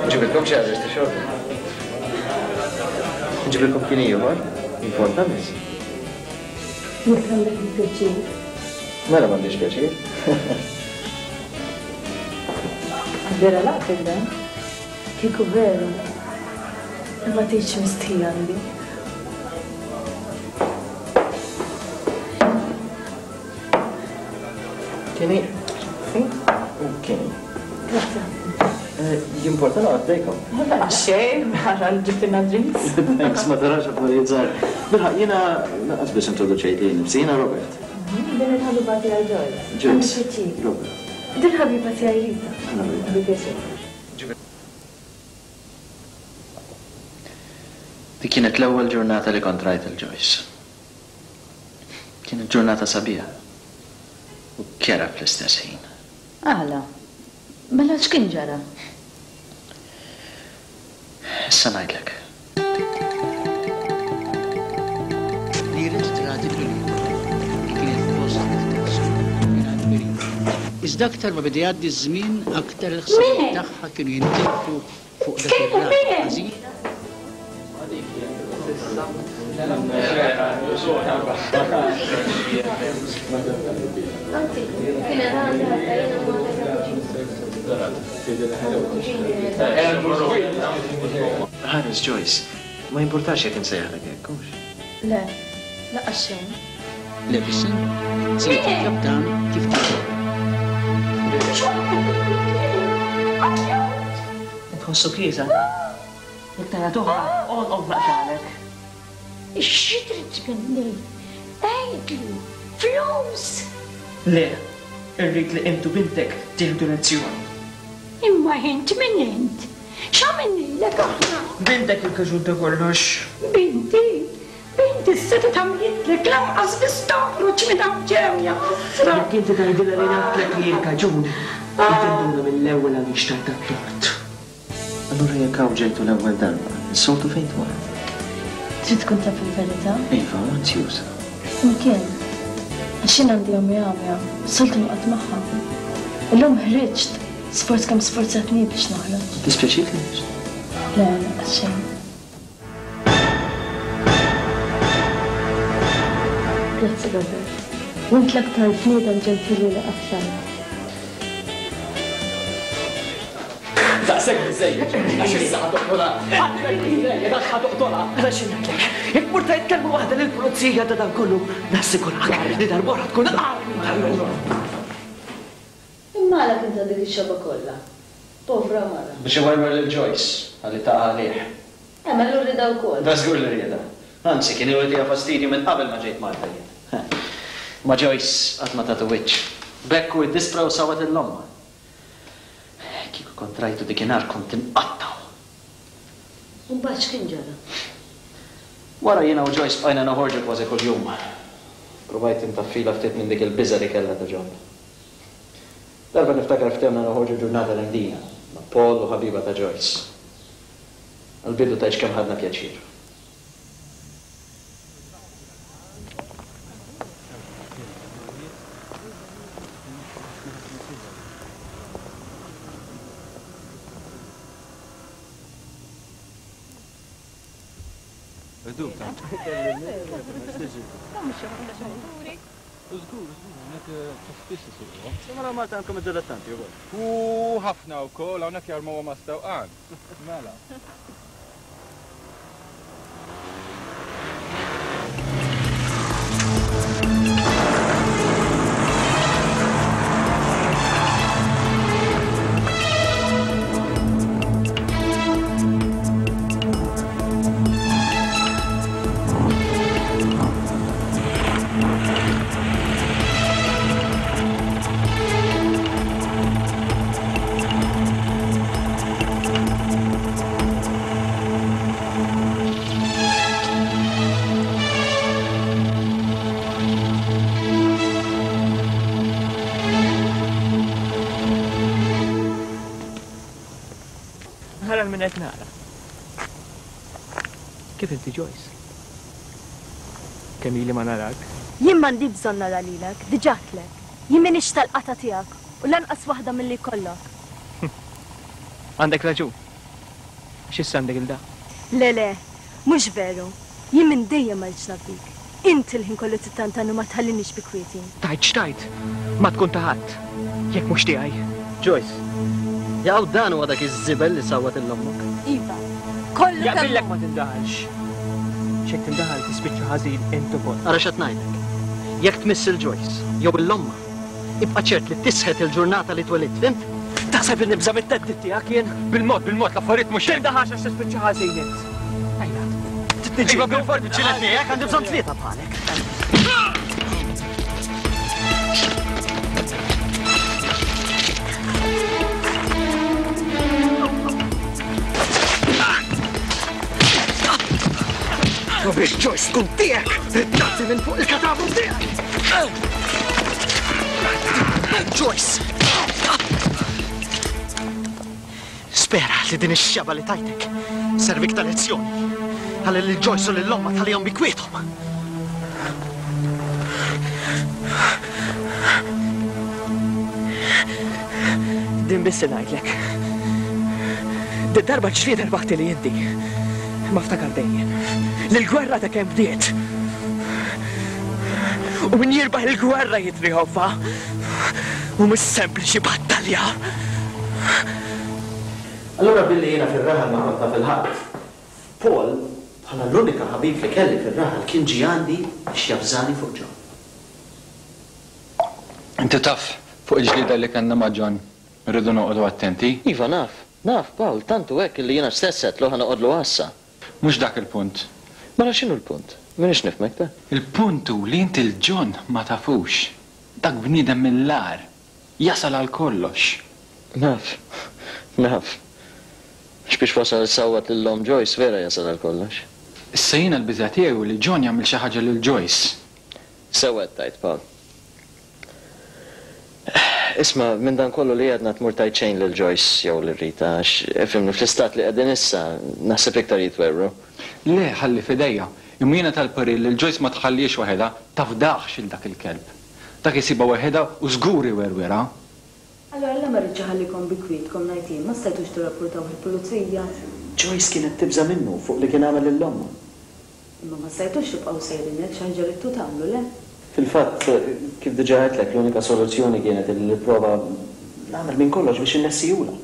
Nġibilkom xi ħaġa tixorbu. Nġibilkom kien ieħor, importa miss. Jekk għandek il-pjaċir. Mela m'għandix pjaċir. Vera laqtek dan? Kieku veru. Imma tgħidx mistħija għandi. Kini. Si? U kini. Grazzi. Eh, jimporta noqgħod ħdejkom. Xejn, ħara l-ġibtina drinks. Thanks, ma tarax affarijiet żgħar. Bilħaq jiena lanqas biss introduċejt lili nnifsi, jiena Robert. Mhm, din il-ħabiba tiegħi Joyce. Joyce. Robert. Din ħabiba tiegħi Rita. Bi pjaċir. Dik kienet l-ewwel ġurnata li kont rajt lil Joyce. Kienet ġurnata sabiħa u kerha fl-istess ħin. Għala? Mela x'kien ġara? Issa ngħidlek. Li rreġistrati fl-Unjoni, li kienet f'post iktar sikur mingħajr periklu. Iżda aktar ma beda jgħaddi ż-żmien, aktar il-ħsibijiet tagħha kienu jintilfu fuq dak ir-raġel ħażin. Ħares Joyce, ma jimpurtax jekk insejjaħlek hekk, hux? Le, lanqas xejn. Levison, ziet il-kaptan kif titlob. Tħossu kiesaħ? Jekk tara toħra, għonqok naqtagħlek. Xi trid minni? Għidli! Flus! Le, irrid li int u bintek tieħdu lezzjoni. Imma int min int? X'għamilnilek aħna? Bintek il-kaġun ta' kollox. Binti? Binti s-setgħet għamlitlek lanqas biss toħroġ minn hawn ġew, ja ħasra! Jekk inti tgħidilha li ngħidtlek li hi l-kaġun, hi tinduna mill-ewwel għaliex tajtha t-tort. Allura jekk hawn ġejtu l-ewwel darba, is-soltu fejn tmorru? Trid tkun taf il-verità? Iva, u anzjuża. Imkien. Għax jien għandi ommi għamja, s-soltu noqgħod magħha. Illum ħriġt, sforz kemm sfurzatni biex noħroġ. Iddispjaċik li ħriġt? Le, lanqas xejn. Grazzi Robert. U int l-aktar bniedem ġentili li qatt rajt. Daqshekk biżżejjed, għax issa ħa toqtolha. Daqshekk biżżejjed għax ħa toqtolha. Ara xi ngħidlek, jekk tmur tgħid kelma waħda lill-pulizija ta' dan kollu, nassigurak li darb'oħra tkun agħar minn tal-lum. Imma għala kien ta dik ix-xebgħa kollha? Povra mara. Biex iwerwer lil Joyce ħalli taqa' għalih. Għamel rieda wkoll. Da żgur li riedha. Anzi, kien ilu jtiha fastidju minn qabel ma ġejt Malta jien. Imma Joyce qatt ma tatu wiċċ. B'hekk hu iddispra u sawwat lil ommha. Kieku kont rajtu dikinhar kont inqattgħu. U mbagħad x'kien ġara? Wara jiena u Joyce bqajna noħorġu kważi kuljum. Provajt intaffilha ftit minn dik il-biża' li kellha ta' John. Darba niftakar ftehmna noħorġu ġurnata l-Imdina, ma' Paul u ħabiba ta' Joyce. Għall-bidu tgħidx kemm ħadna pjaċir. Mela Malta għandkom id-dilettanti wkoll. U ħafna wkoll hawnhekk jarmuhom għas-sewqan. Mela. Ara min qed nara. Kif inti Joyce? Kemm ili ma narak? Jien m'għandi bżonn nara lilek, diġà għedtlek. Jien m'iniex tal-qatgħa tiegħek u lanqas waħda milli jkollok. Għandek raġun. Għax issa għandek 'il dak. Le le, mhux veru. Jien minn dejjem ma ridtx naf bik. Int il-ħin kollu tittantan u ma tħallinix bi kwieti. Tgħid x'tgħid, ma tkun ta' ħadd, jekk mhux tiegħi. Joyce, Jaqaw dan huwa dak iż-żibel li sawwat 'il ommok? Iva, kollu kemm hu. Jaqbillek ma tindaħalx. X'jekk tindaħal tispiċċa ħażin int ukoll. Ara x'qed ngħidlek. Jekk tmiss 'il Joyce, jew 'il ommha, ibqa' ċert li tisħet il-ġurnata li twelidt, fhimt? Taħseb li nibża' mit-theddid tiegħek jien? Bil-mod, bil-mod, l-affarijiet mhux hekk. Tindaħalx għax tispiċċa ħażin int. Ejja. Iva, bil-fort niġġieled miegħek, għandi bżonn tlieta bħalek. U biex Joyce tkun tiegħek, trid tgħaddi minn fuq il-katavru tiegħek. Joyce! Spera li din ix-xebgħa li tajtek sservik ta' lezzjoni. Ħalli lil Joyce u lil ommha tħallihom bi kwiethom. Din biss se ngħidlek. Did-darba l-ġlieda rbaħtili inti. Imma ftakar dejjem li l-gwerra ta' kemm bdiet. U min jirbaħ il-gwerra jitrijonfa. U mhux sempliċi battalja. Allura billi jiena fir-raħal ma kont naf 'il ħadd, Paul, bħala l-unika ħabib li kelli fir-raħal kien ġie għandi biex javżani fuq John. Inti taf fuq il-ġlieda li kellna ma' John, irridu noqogħdu attenti. Iva naf, naf Paul, tant hu hekk illi jiena stess għedtlu ħa noqgħodlu għassa. Mhux dak il-punt. Mela x'inhu l-punt? M'iniex nifhmek, ta. Il-punt hu li inti 'l John ma tafux. Dak bniedem mill-agħar. Jasal għal kollox. Naf. Naf. Għax biex wasal isawwat lil omm Joyce vera jasal għal kollox. Issa jiena l-biża' tiegħi hu li John jagħmel xi ħaġa lil Joyce. Sewwa qed tgħid, Paul. Isma', minn dan kollu li għedna tmur tgħid xejn lil Joyce jew lil Rita għax, ifhimni, fl-istat li qegħdin issa, naħseb iktar jitwerwru. Le, ħalli f'idejja. Imma jiena tal-parir li 'l Joyce ma tħallihiex waħedha, tafdahx 'il dak il-kelb. Dak isibha waħedha u żgur iwerwirha. Allura la ma ridx iħallikom bi kwietkom ngħid jien, ma stajtux tirrappurtawh il-pulizija? Joyce kienet tibża' minnu fuq li kien għamel lil ommha. Imma ma stajtux tibqgħu sejrin hekk, xi ħaġa ridtu tagħmlu, le? Fil-fatt, kif diġà għedtlek, l-unika soluzzjoni kienet li nipprova nagħmel minn kollox biex innessihulha.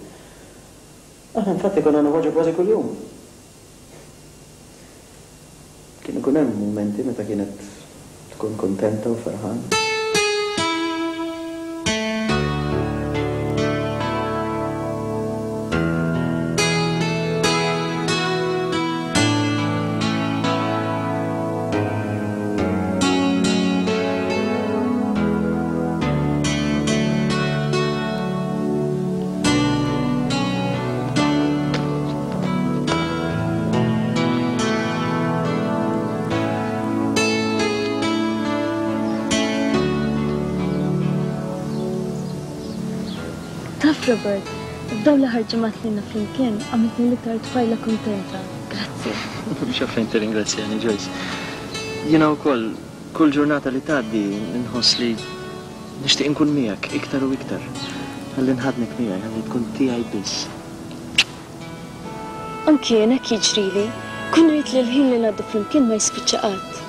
Aħna infatti konna noħorġu kważi kuljum. Kien ikun hemm mumenti meta kienet tkun kuntenta u ferħana. Taf Robert, f'dawn l-aħħar ġimgħat li ilna flimkien għamiltni l-iktar tfajla kuntenta. Grazzi. Mhux għalfejn tirringrazzjani, Joyce. Jiena wkoll, kull ġurnata li tgħaddi nħoss li nixtieq inkun miegħek iktar u iktar. Ħalli nħaddnek miegħi, ħalli tkun tiegħi biss. Anki jien hekk jiġrili. Kun rrid li l-ħin li ngħaddu flimkien ma jispiċċa qatt.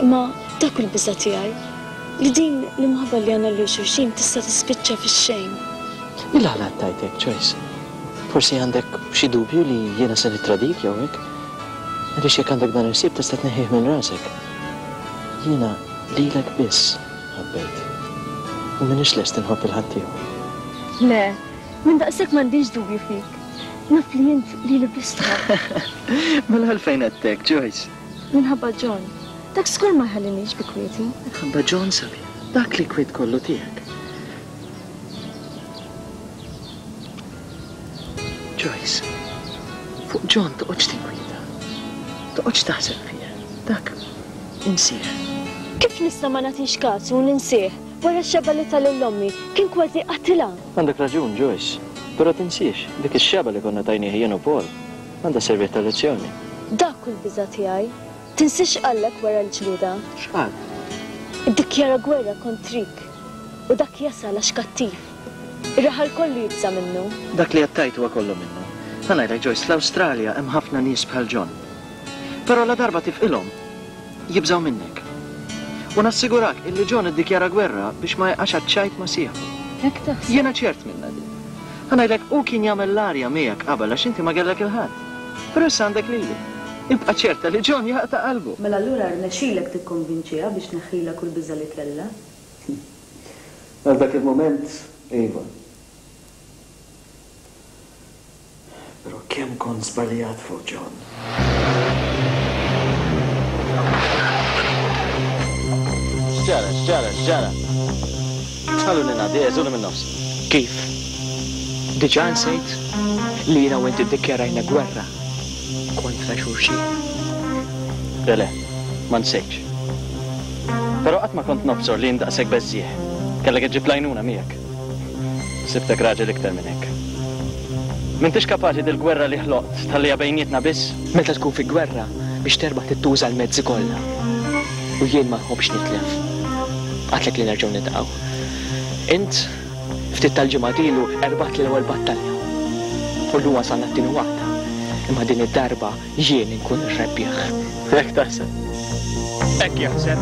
Imma dak hu l-biża' tiegħi, li din l-imħabba li għandna lil xulxin tista' tispiċċa fix-xejn. Il-għala qed tgħid hekk, Joyce? Forsi għandek xi dubju li jiena se nittradik jew hekk? Għaliex jekk għandek dan il-ħsieb tista' tneħħih minn rasek. Jiena lilek biss ħabbejt. U m'iniex lest inħobb 'il ħaddieħor. Le, minn daqshekk m'għandix dubju fik. Naf li int lili biss tħobb. Mela għalfejn għedt hekk, Joyce? Minħabba John. Dak żgur ma jħallinix bi kwieti. Minħabba John, sabiħ. Dak li kwiet kollu tiegħek. Joyce, fuq John toqgħodx tinkwieta. Toqgħodx taħseb fih. Dak insih. Kif nista' ma nagħtix kasu u ninsih? Wara x-xebgħa li ta lil ommi, kien kważi qatilha! Għandek raġun, Joyce. Però tinsiex, dik ix-xebgħa li konna tajnieh jien u Paul, għandha sservih ta' lezzjoni. Dak hu l-biża' tiegħi. Tinsiex x'qallek wara l-ġlieda. X'qal? Iddikjara gwerra kontrik. U dak jasal għax kattiv. Ir-raħal kollu jibża' minnu. Dak li qed tgħid huwa kollu minnu. Ħa ngħidlek Joyce, fl-Awstralja hemm ħafna nies bħal John. Però ladarba tifqilhom, jibżgħu minnek. U nassigurak illi John iddikjara gwerra biex ma jaqax għaċ-ċajt ma' sieħbu. Hekk taħseb? Jiena ċert minnha din. Ħa ngħidlek, hu kien jagħmel l-arja miegħek qabel għax inti ma kellek 'il ħadd. Però issa għandek lili. Ibqa' ċerta li John jaqta' qalbu. Mela allura rnexxilek tikkonvinċiha biex tneħħilha kull biża' li kellha? Għal dak il-mument, iva. Però kemm kont żbaljat fuq John. X'ġara, x'ġara, x'ġara? Ħalluni ngħaddi, għeżuli minn nofsi. Kif? Diġà nsejt li jiena u inti ddikjarajna gwerra kontra xulxin? Le, le, ma nsejtx. Però qatt ma kont nobsor li int daqshekk beżżiegħ. Kellek iġġib l-għajnuna miegħek. Sibtek raġel iktar minn hekk. M'intix kapaċi dil-gwerra li ħloqt tħalliha bejnietna biss? Meta tkun fi gwerra, biex terbaħ trid tuża l-mezzi kollha. U jien ma nħobbx nitlef. Għadtlek li nerġgħu niltaqgħu. Int, ftit tal-ġimgħat ilu, erbaħtli l-ewwel battalja. U llum wasalna t-tieni waħda. Imma din id-darba Jien inkun ir-rebbieħ. Hekk taħseb? Hekk jaħseb.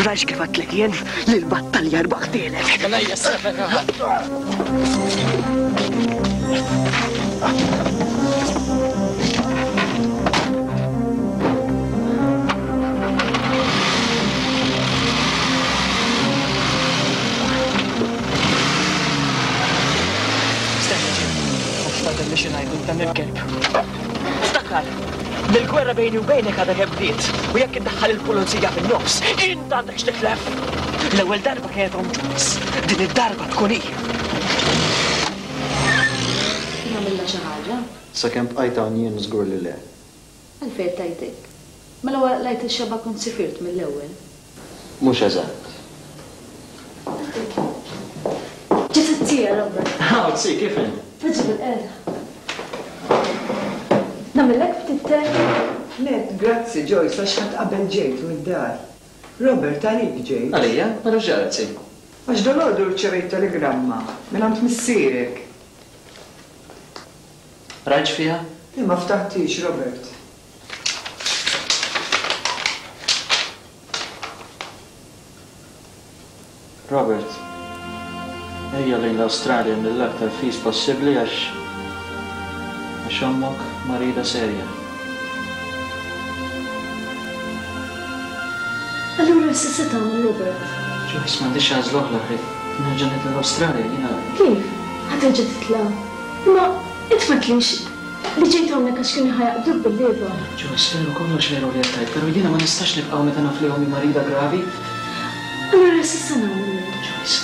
Rajx kif għedtlek jien li l-battalja rbaħtielek. Mela hija sefek. Stenna ġim, għax fadal li xi ngħidu dan il-kelb. Ftakar li l-gwerra bejni u bejnek għadha kemm bdiet u jekk iddaħħal il-pulizija fin-nofs, int għandek x'titlef. L-ewwel darba kienet omm Joyce, din id-darba tkun hi. Kien għamilha xi ħaġa? Sakemm bqajt hawn jien żgur li le. Għalfejn qed tgħid hekk? Mela wara qlajt ix-xebgħa kont sifirt mill-ewwel. Mhux eżatt. Ġiet it-tija, Robert. Hawn, zi, kif int? Poġġi bilqiegħda. Nagħmillek ftit te? Le, grazzi, Joyce, għax ħadd qabel ġejt mid-dar. Robert, għalik ġejt. Għalija? Mela x'ġara, zi? Għax dalgħodu rċevejt telegramma mingħand missierek. Rajt x'fiha? Le, ma ftaħthiex, Robert. Robert, ejja lejn l-Awstralja mill-aktar fis possibbli għax għax ommok marida serja. Allura issa se tagħmel Robert? Joyce, m'għandix għażla oħra ħlief nerġa' nitla' l-Awstralja, jiena. Kif? Ħa terġa' titla'? Imma int m'għedtlix Li ġejt hawnhekk għax kienu ħa jaqbduk bil-lieva. Joyce, veru kollox veru li qed tgħid, però jiena ma nistax nibqa' hawn meta naf li ommi marida gravi. Allura x'se nagħmlu? Joyce,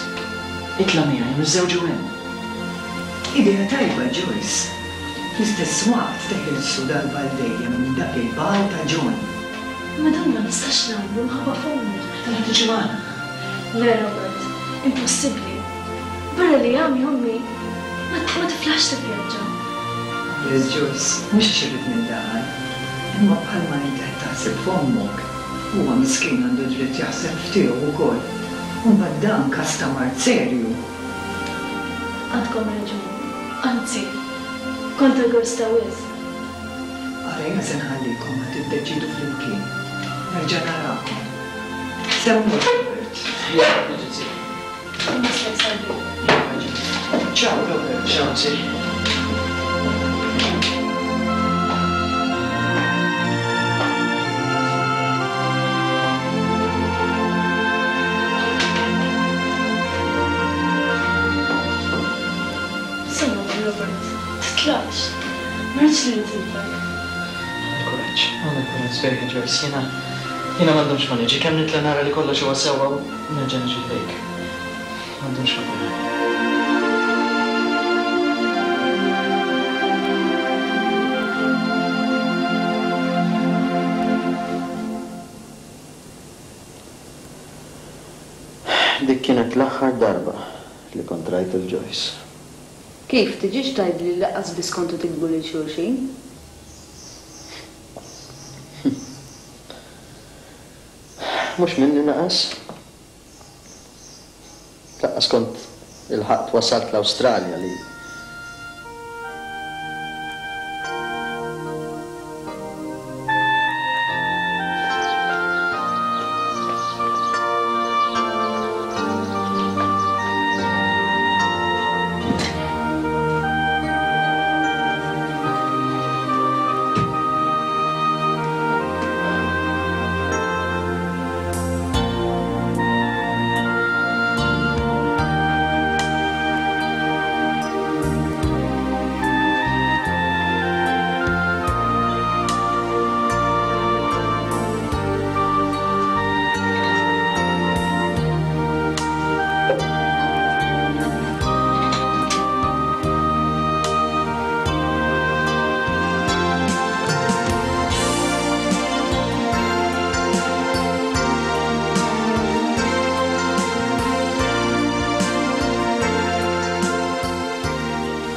itla' miegħi u niżżewġu hemm. Idea tajba, Joyce. Fl-istess waqt teħilsu darba għal dejjem minn dak il-bagħal ta' John. Imma dan ma nistax nagħmlu minħabba f'ommi. Mela tiġi magħna. Le, Robert, impossibbli. Barra li għami ommi ma tiflaħx tivvjaġġa. Liz Joyce, mhux għax irrid nindaħal, imma bħalma inti qed taħseb f'ommok, huwa miskin għandu dritt jaħseb f'tiegħu wkoll. U mbagħad dan każ ta' mard serju. Għandkom raġun. Anzi, kont egoista wisq. Ara jiena se nħallikom ħa tiddeċiedu flimkien. Nerġa' narakom. Se mmur, Robert. Jien qed niġi, zi. Ciao Robert. Ciao zi. Semmgħu Robert, titlaqx. Ma rridx li nitilfek. Għamel kuraġġ, għamel kuraġġ sbejħa Joyce, jiena jiena m'għandhomx ma niġi, kemm nitla' nara li kollox huwa sewwa u Nerġa' niġi ħdejk. M'għandux problema. Dik kienet l-aħħar darba li kont rajt 'il Joyce. Kif, tiġix tgħidli li lanqas biss kontu tiktbu lil xulxin? Mhux minni naqas. Lanqas kont ilħaqt wasalt l-Awstralja li.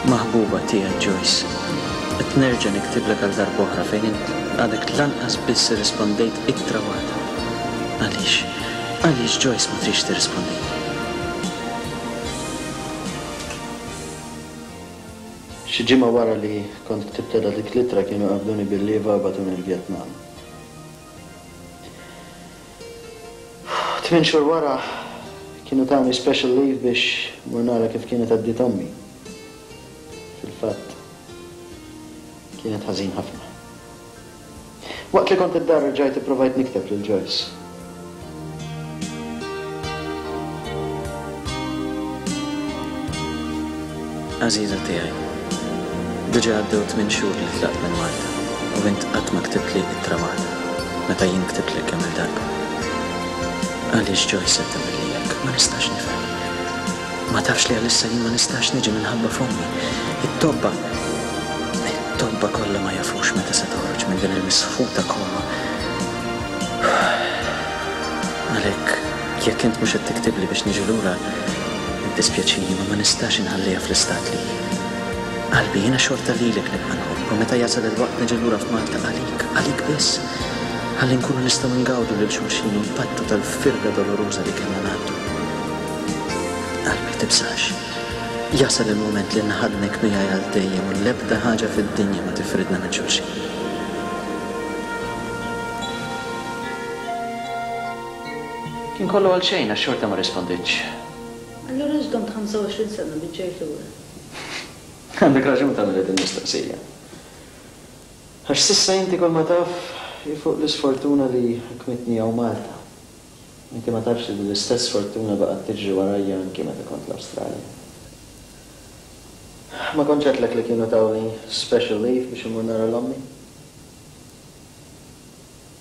Maħbuba tiegħi Joyce, qed nerġa' niktiblek għal darb'oħra fejn int għadek lanqas biss irrispondejt ittra waħda. Għaliex? Għaliex Joyce ma tridx tirrispondini? Xi ġimgħa wara li kont ktibtilha dik l-ittra kienu qabduni bil-lieva u bagħtuni l-Vjetnam. Tmien xhur wara kienu tawni special leave biex mmur nara kif kienet għaddiet ommi. Fil-fatt, kienet ħażin ħafna. Waqt li kont id-dar rġajt ipprovajt nikteb lil Joyce. Għażiża tiegħi, diġà għaddew tmien xhur li tlaqt minn Malta. U int qatt ma ktibtli ittra waħda, meta jien ktibtlek kemm-il darba. Għaliex Joyce qed tagħmilli hekk? Ma nistax nifhem. Ma tafx li għalissa jien ma nistax niġi minħabba f'ommi. It-tobba, it-tobba kollha ma jafux meta se toħroġ minn din il-misħuta koma. Għalhekk, jekk int mhux qed tiktibli biex niġi lura, iddispjaċini imma ma nistax inħalliha fl-istat li hi. Qalbi, jiena xorta lilek nibqa' nħobb u meta jasal il-waqt niġi lura f'Malta għalik, għalik biss. Ħalli nkunu nistgħu ngawdu lil xulxin u npattu tal-firda doloruża li kellna ngħaddu. Qalbi, tibżax. Jasal il-mument li nħaddnek miegħi għal dejjem u l-ebda ħaġa fid-dinja ma tifridna minn xulxin. Kien kollu għal xejn għax xorta ma rrisponditx. Allura għax domt 25 sena biex ġejt lura? Għandek raġun tagħmilli din il-mistoqsija. Għax s'issa inti kull ma taf hi fuq l-isfortuna li ħakmitni hawn Malta. Inti ma tafx li din l-istess sfortuna baqgħet tiġri warajja anki meta kont l-Awstralja. Ma kontx għedtlek li kienu tawni special leave biex immur nara 'l ommi?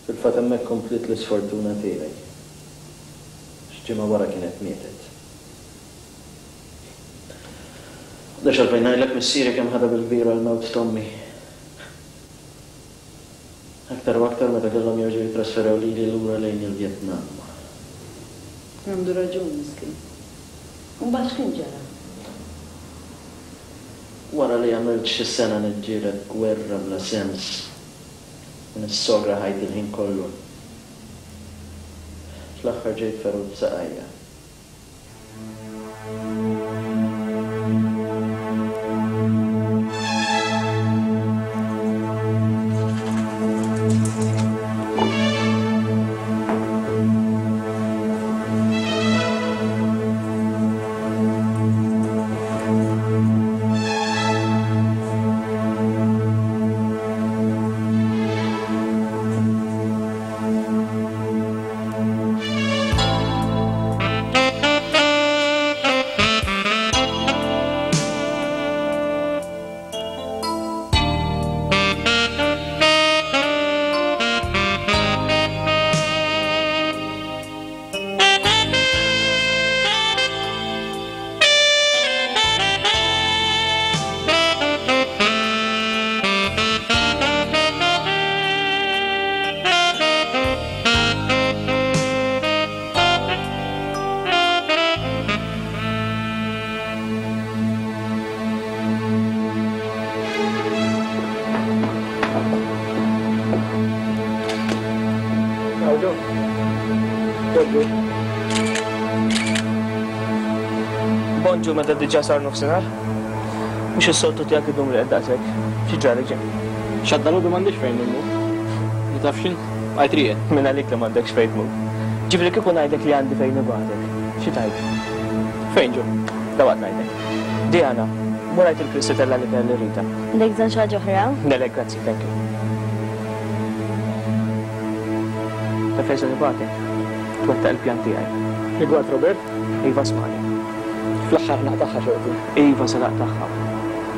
Fil-fatt hemmhekk kompliet l-isfortuna tiegħi. Għax ġimgħa wara kienet mietet. M'għandix għalfejn ngħidlek missieri kemm ħadha bil-kbira l-mewt t'ommi. Aktar u aktar meta kellhom jerġgħu jittrasferew lili lura lejn il-Vjetnam. Għandu raġun miskin. U mbagħad x'kien ġara? Wara li għamilt xi sena niġġieled gwerra bla sens u nissogra ħajti l-ħin kollu, fl-aħħar ġejt ferut f'saqajja. Bonġu meta diġà sar nofsinhar. Mhux is-soltu tiegħek idum rieqed daqshekk. Xi ġralek ġej? Xad dalodu m'għandix fejn immur. Ma taf x'int? Bqajt rieqed. Min għalik li m'għandekx fejn tmur. Ġifieri kieku ngħidlek li għandi fejn nibgħatek, xi tgħid? Fejn ġo? Dalwaqt ngħidlek. Diana, mur għid il-Chris itella' l-ikel lil Rita. Għandek bżonn xi ħaġa oħra? Le le, grazzi, thank you. Taf fejn se nibgħatek? Twettaq il-pjan tiegħi. Rigward Robert? Iva smani. Fl-aħħar naqtagħha xorti. Iva se naqtagħha.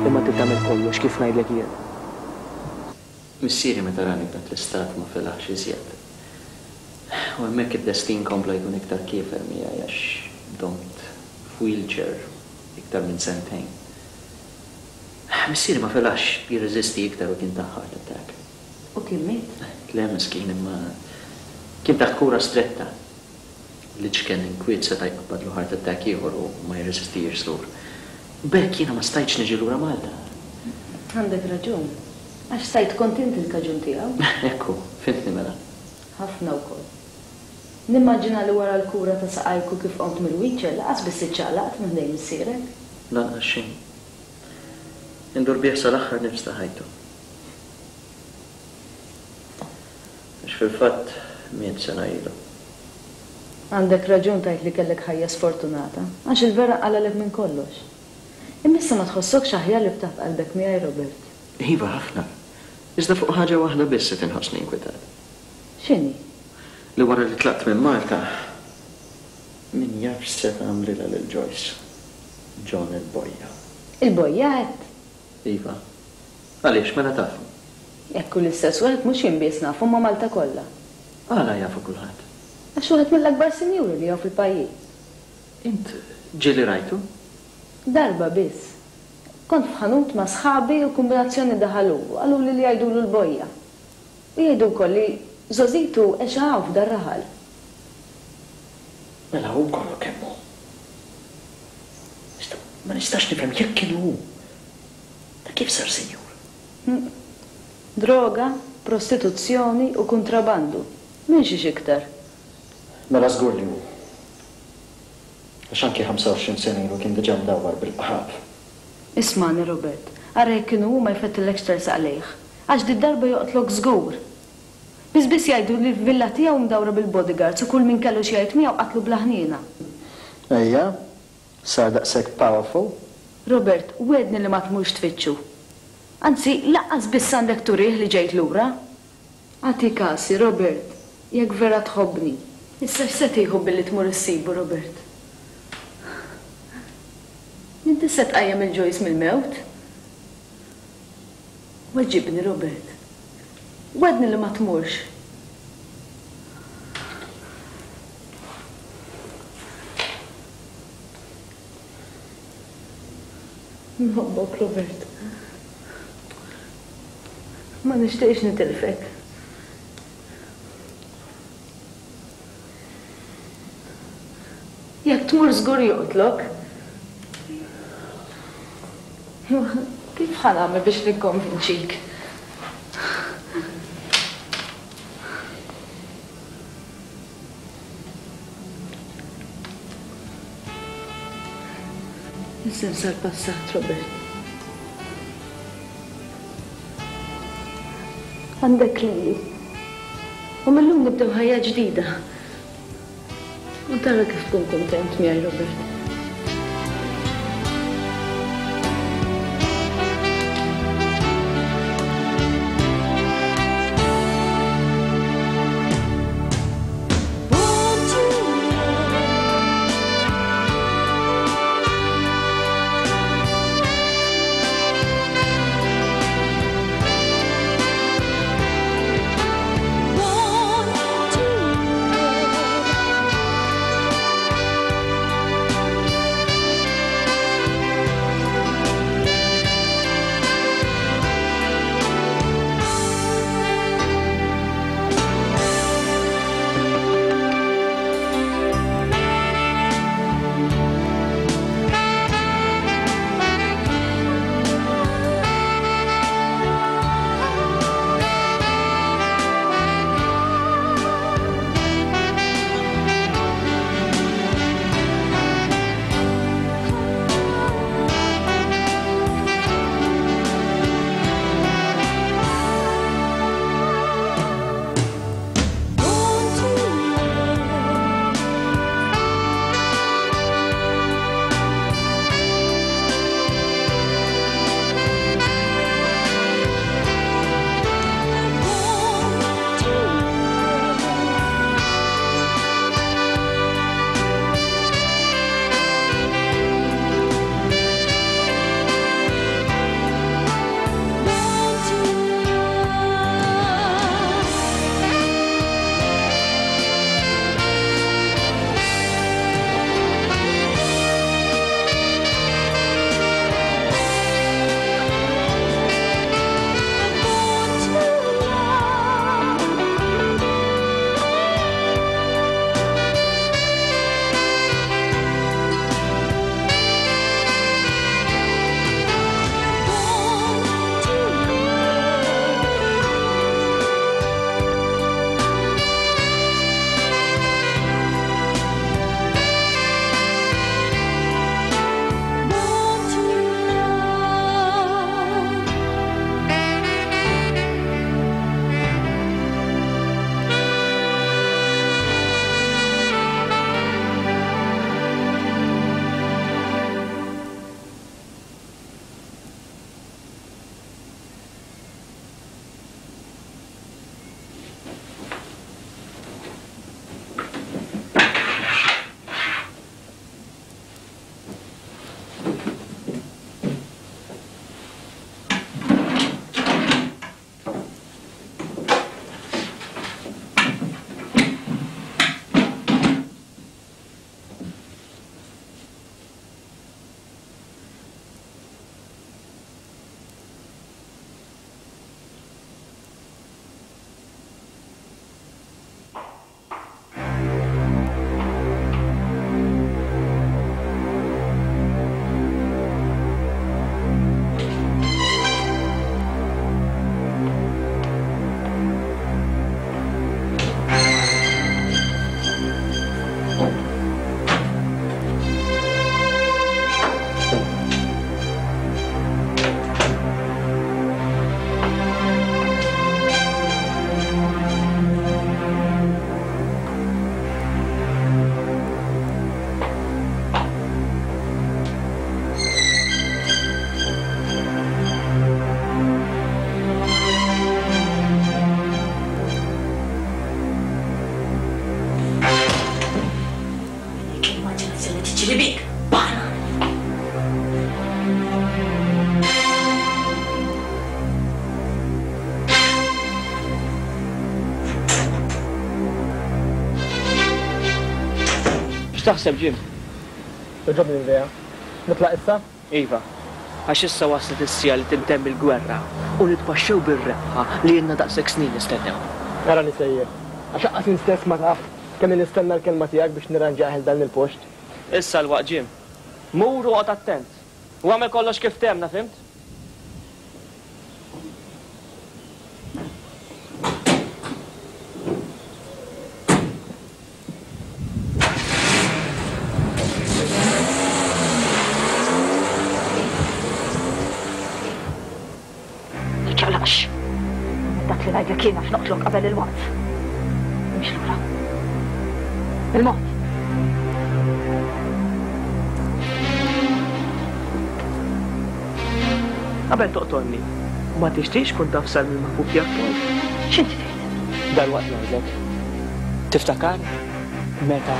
Imma trid tagħmel kollox kif ngħidlek jien. Missieri meta rani f'dak l-istat ma felaħx iżjed. U hemmhekk id-destin kompla jkun iktar kiefer miegħi għax domt f'wheelchair iktar minn sentejn. Missieri ma felaħx jirreżisti iktar u kien tah heart attack. U kien miet? Le miskin imma kien taħt kura stretta. L-iċken inkwiet seta' jqabbadlu heart attack ieħor u ma jirreżistihiex żgur. B'hekk jiena ma stajtx niġi lura Malta. Għandek raġun. Għax stajt kont int il-kaġun tiegħu. Hekk hu. Fhimtni mela. Ħafna wkoll. Nimmaġina li wara l-kura ta' saqajk u kif qomt mill-wheelchair laqas biss iċċaqlaqt minn ħdejn missierek. Lanqas xejn. Indur bih sal-aħħar nifs ta' ħajtu. Għax fil-fatt miet sena ilu. Għandek raġun tgħid li kellek ħajja sfortunata, għax il-vera qalgħalek minn kollox. Imma issa ma tħossokx aħjar li ftaħt qalbek miegħi, Robert? Iva, ħafna. Iżda fuq ħaġa waħda biss qed inħossni inkwetat. X'inhi? Li wara li tlaqt minn Malta, min jaf x'se tagħmlilha lil Joyce. John il-bojja. Il-bojja għedt? Iva. Għaliex, mela tafu? Jekk hu l-istess wieħed mhux jien biss nafu imma Malta kollha. Għala jafu kulħadd? Għax wieħed mill-akbar sinjuri li hawn fil-pajjiż. Int ġieli rajtu? Darba biss. Kont f'ħanut ma' sħabi u kumbinazzjoni daħal hu u qaluli li jgħidulu l-bojja. U jgħidu wkoll li żgħożitu għexha hawn f'dar-raħal. Mela hu kollu kemm hu. Iżda ma nistax nifhem jekk kien hu, ta' kif sar sinjur? Droga, prostituzzjoni u kuntrabandu. Minn xiex iktar? Mela żgur li hu. Għax anki 25 sena ilu kien diġà mdawwar bil-qrab. Ismagħni Robert, ara jekk inhu hu ma jfettillekx tersaq lejh. Għax did-darba joqtlok żgur. Biss biss jgħidu li l-villa tiegħu mdawra bil-bodyguards u kull min kellu xi jgħid miegħu qatlu bla ħniena. Ejja, sar daqshekk powerful? Robert, wegħdni li ma tmurx tfittxu. Anzi, lanqas biss għandek turih li ġejt lura. Agħti kasi, Robert, jekk vera tħobbni. Issa x'se tieħu billi tmur issibu, Robert? Inti se tqajjem 'il Joyce mill-mewt? Weġibni, Robert. Wegħdni li ma tmurx. Nħobbok, Robert. Ma nixtieqx nitilfek. Jekk tmur żgur joqtlok. Kif ħa nagħmel biex nikkonvinċik? Issa nsa l-passat, Robert. Għandek lili. U mil-lum nibdew ħajja ġdida. U tara kif tkun kuntent miegħi, Robert. X'taħseb, Jim? Togħġobni l-idea. Nitlaq issa? Iva, għax issa waslet is-siegħa li tintemm il-gwerra u nitpaxxew bir-rebħa li ilna daqshekk snin nistennew. Arani sejjer, għax anqas int stess ma taf kemm ili nistenna l-kelma tiegħek biex nirranġah 'il dan il-post. Issa l-waqt, Jim. Mur u oqgħod attent. U agħmel kollox kif ftehemna, fhimt? Tiċċaqlaqx. Agħmel dak li ngħidlek jien għax noqtlok qabel il-waqt. Imxi lura. Bil-mod. Qabel toqtolni, ma tixtieqx tkun taf sar mill-maħbub tiegħek Paul? X'inti tgħid? Dalwaqt ngħidlek. Tiftakar meta.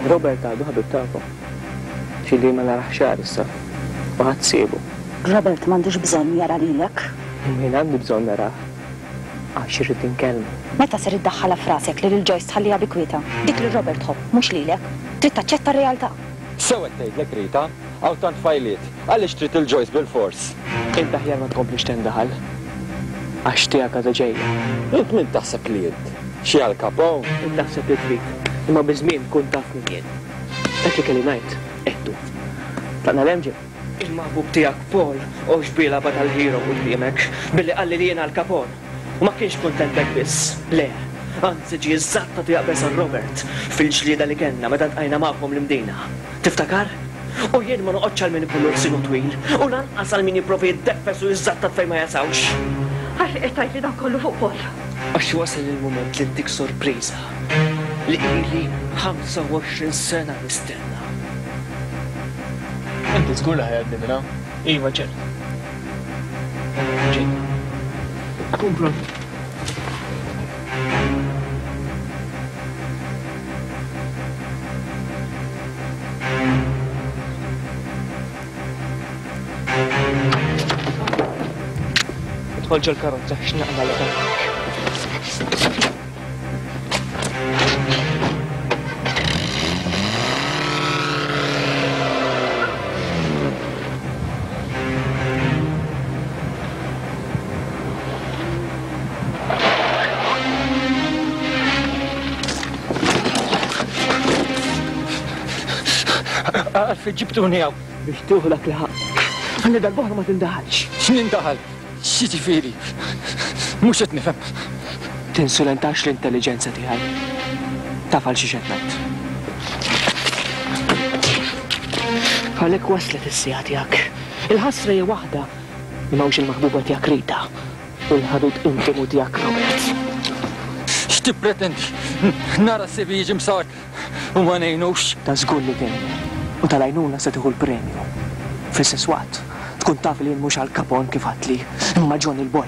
Robert għadu ħabib tagħkom. Xi li ma narax xahar issa. U ħadd siebu. Robert m'għandux bżonn jara lilek. Imma jien għandi bżonn narah. Għax irrid inkellmu. Meta ser iddaħħalha f'rasek li lil Joyce tħalliha bi kwietha? Dik lil Robert tħobb, mhux lilek. Trid taċċetta r-realtà. Sew qed tgħidlek Rita, hawn tant tfajliet, għaliex trid lil Joyce bilfors? Int aħjar ma tkomplix tindaħal, għax tiegħek għadha ġejja. Int min taħseb li int? Xi Al Capone? Int taħseb li trid, imma biż-żmien tkun taf min jien. Dak li kelli ngħid, għedtu. Tlaqna 'l hemm, Jim? Il-maħbub tiegħek Paul għoxx bilgħaba tal-hero quddiemek, billi qalli li jien Al Capone. U ma kienx kuntent b'hekk biss, le, anzi ġie żatt u jaqbeż għal Robert fil-ġlieda li kellna meta ltqajna magħkom l-Imdina. Tiftakar? U jien ma noqgħodx għal min ikollu lsienu twil, u lanqas għal min jipprova jiddeffes u jiżżattat fejn ma jasawx. Għalfejn qed tgħidli dan kollu fuq Paul? Għax wasal il-mument li ntik sorpriża li ili 25 sena nistenna. Inti żgur li ħa jgħaddi minn hawn? Iva ċert. Ġej. Kun pront. Idħol ġol-karozza x'naqla' qalbek. Għalfejn ġibtuni hawn? Biex tieħu dak li ħaqqek. Ħalli darb'oħra ma tindaħalx. X'nindaħal? X'jiġifieri? Mhux qed nifhem. Tinsulentax l-intelliġenza tiegħi. Taf għal xiex qed ngħid. Għalhekk waslet is-siegħa tiegħek. Il-ħasra hija waħda li m'hawnx il-maħbuba tiegħek Rita u l-ħabib intimu tiegħek Robert. X'tippretendi? Nara sibi jiġi msawwat u ma ngħinux? Ta' żgur li tgħinu u tal-għajnuna se tieħu l-premju. Fl-istess waqt, tkun taf li jien mhux Al Capone kif għadtli, imma Johnny l-Boy.